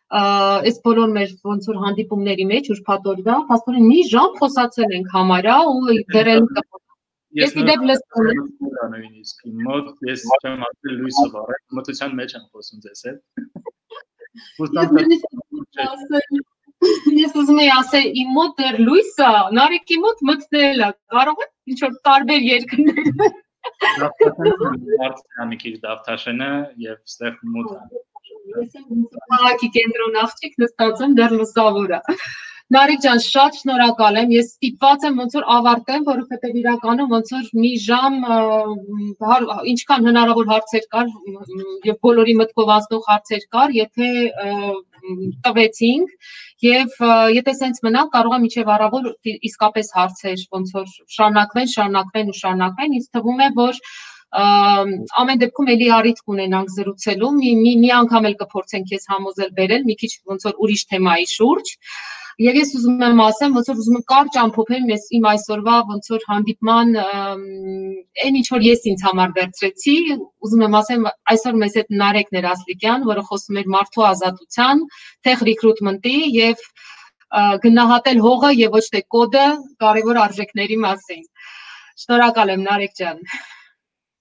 այս բոլոր մեր ոնց որ հանդիպումների մեջ ուրբաթ օրվա, փաստորեն մի ժամ խոսացել ենք համարյա ու դեռ էլ Ես իդեպ լսում եմ։ Նույնիսկ մոտ ես չեմ ասել լույսը վառել, մտության մեջ եմ խոսում ձեզ հետ։ Ես ուզում եի ասել իմ մոտ դեռ լույսը, Նարեկի մոտ մտնել է, կարող է ինչ որ տարբեր երկրներ։ Դավթաշենը մի քիչ դավթաշենը եւ ստեղ մոտ է։ Ես եմ քաղաքի կենտրոն աղջիկ նստած եմ դեռ լուսավոր է։ Նարեկ ջան, շատ շնորհակալ եմ։ Ես ստիպված եմ ոնց որ ավարտեմ, որովհետև իրականում ոնց որ մի ժամ ինչքան հնարավոր հարցեր կար եւ բոլորի մտքով անցնող հարցեր կար, եթե տվեցինք եւ եթե սենց մնա, կարող է մինչեւ առավոտ իսկապես հարցեր ոնց որ շարունակվեն, ինձ թվում է, որ ամեն դեպքում էլի առիթ կունենանք զրուցելու, մի անգամ էլ կփորձենք քեզ համոզել բերել, մի քիչ ոնց որ ուրիշ թեմայի շուրջ։ Եվ ես ուզում եմ ասեմ, ոնց որ ուզում եմ կարճ ամփոփեմ իմ այսօրվա ոնց որ հանդիպման այն ինչ որ ես ինձ համար վերցրեցի, ուզում եմ ասեմ, այսօր մեզ հետ Նարեկն էր Ասլիկյան, որը խոսում էր մարդու ազատության, tech recruitment-ի եւ գնահատել հողը եւ ոչ թե կոդը կարևոր արժեքների մասին։ Շնորհակալ եմ Նարեկ ջան։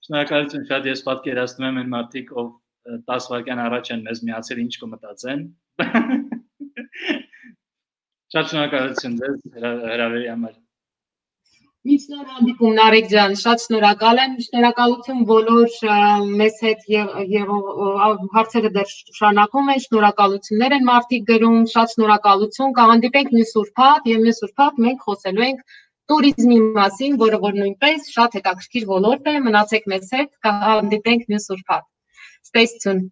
Շնորհակալություն, շատ ես պատկերացնում եմ այն մարդիկ, ով 10 վայրկյան առաջ են մեզ միացել, ինչ կմտածեն։ Շատ շնորհակալություն ձեզ հրավերի համար։ Միշտ հանդիպում Նարեկ ջան, շատ շնորհակալ եմ, շնորհակալություն բոլոր մեզ հետ եւ հարցերը դեռ շարունակում են, շնորհակալություններ են մարդիկ գրում, շատ շնորհակալություն, կհանդիպենք մյուս ուրբաթ եւ մյուս ուրբաթ մենք խոսելու ենք տուրիզմի մասին, որը որ նույնպես շատ հետաքրքիր ոլորտ է, մնացեք մեզ հետ, կհանդիպենք մյուս ուրբաթ։ Ստեսություն։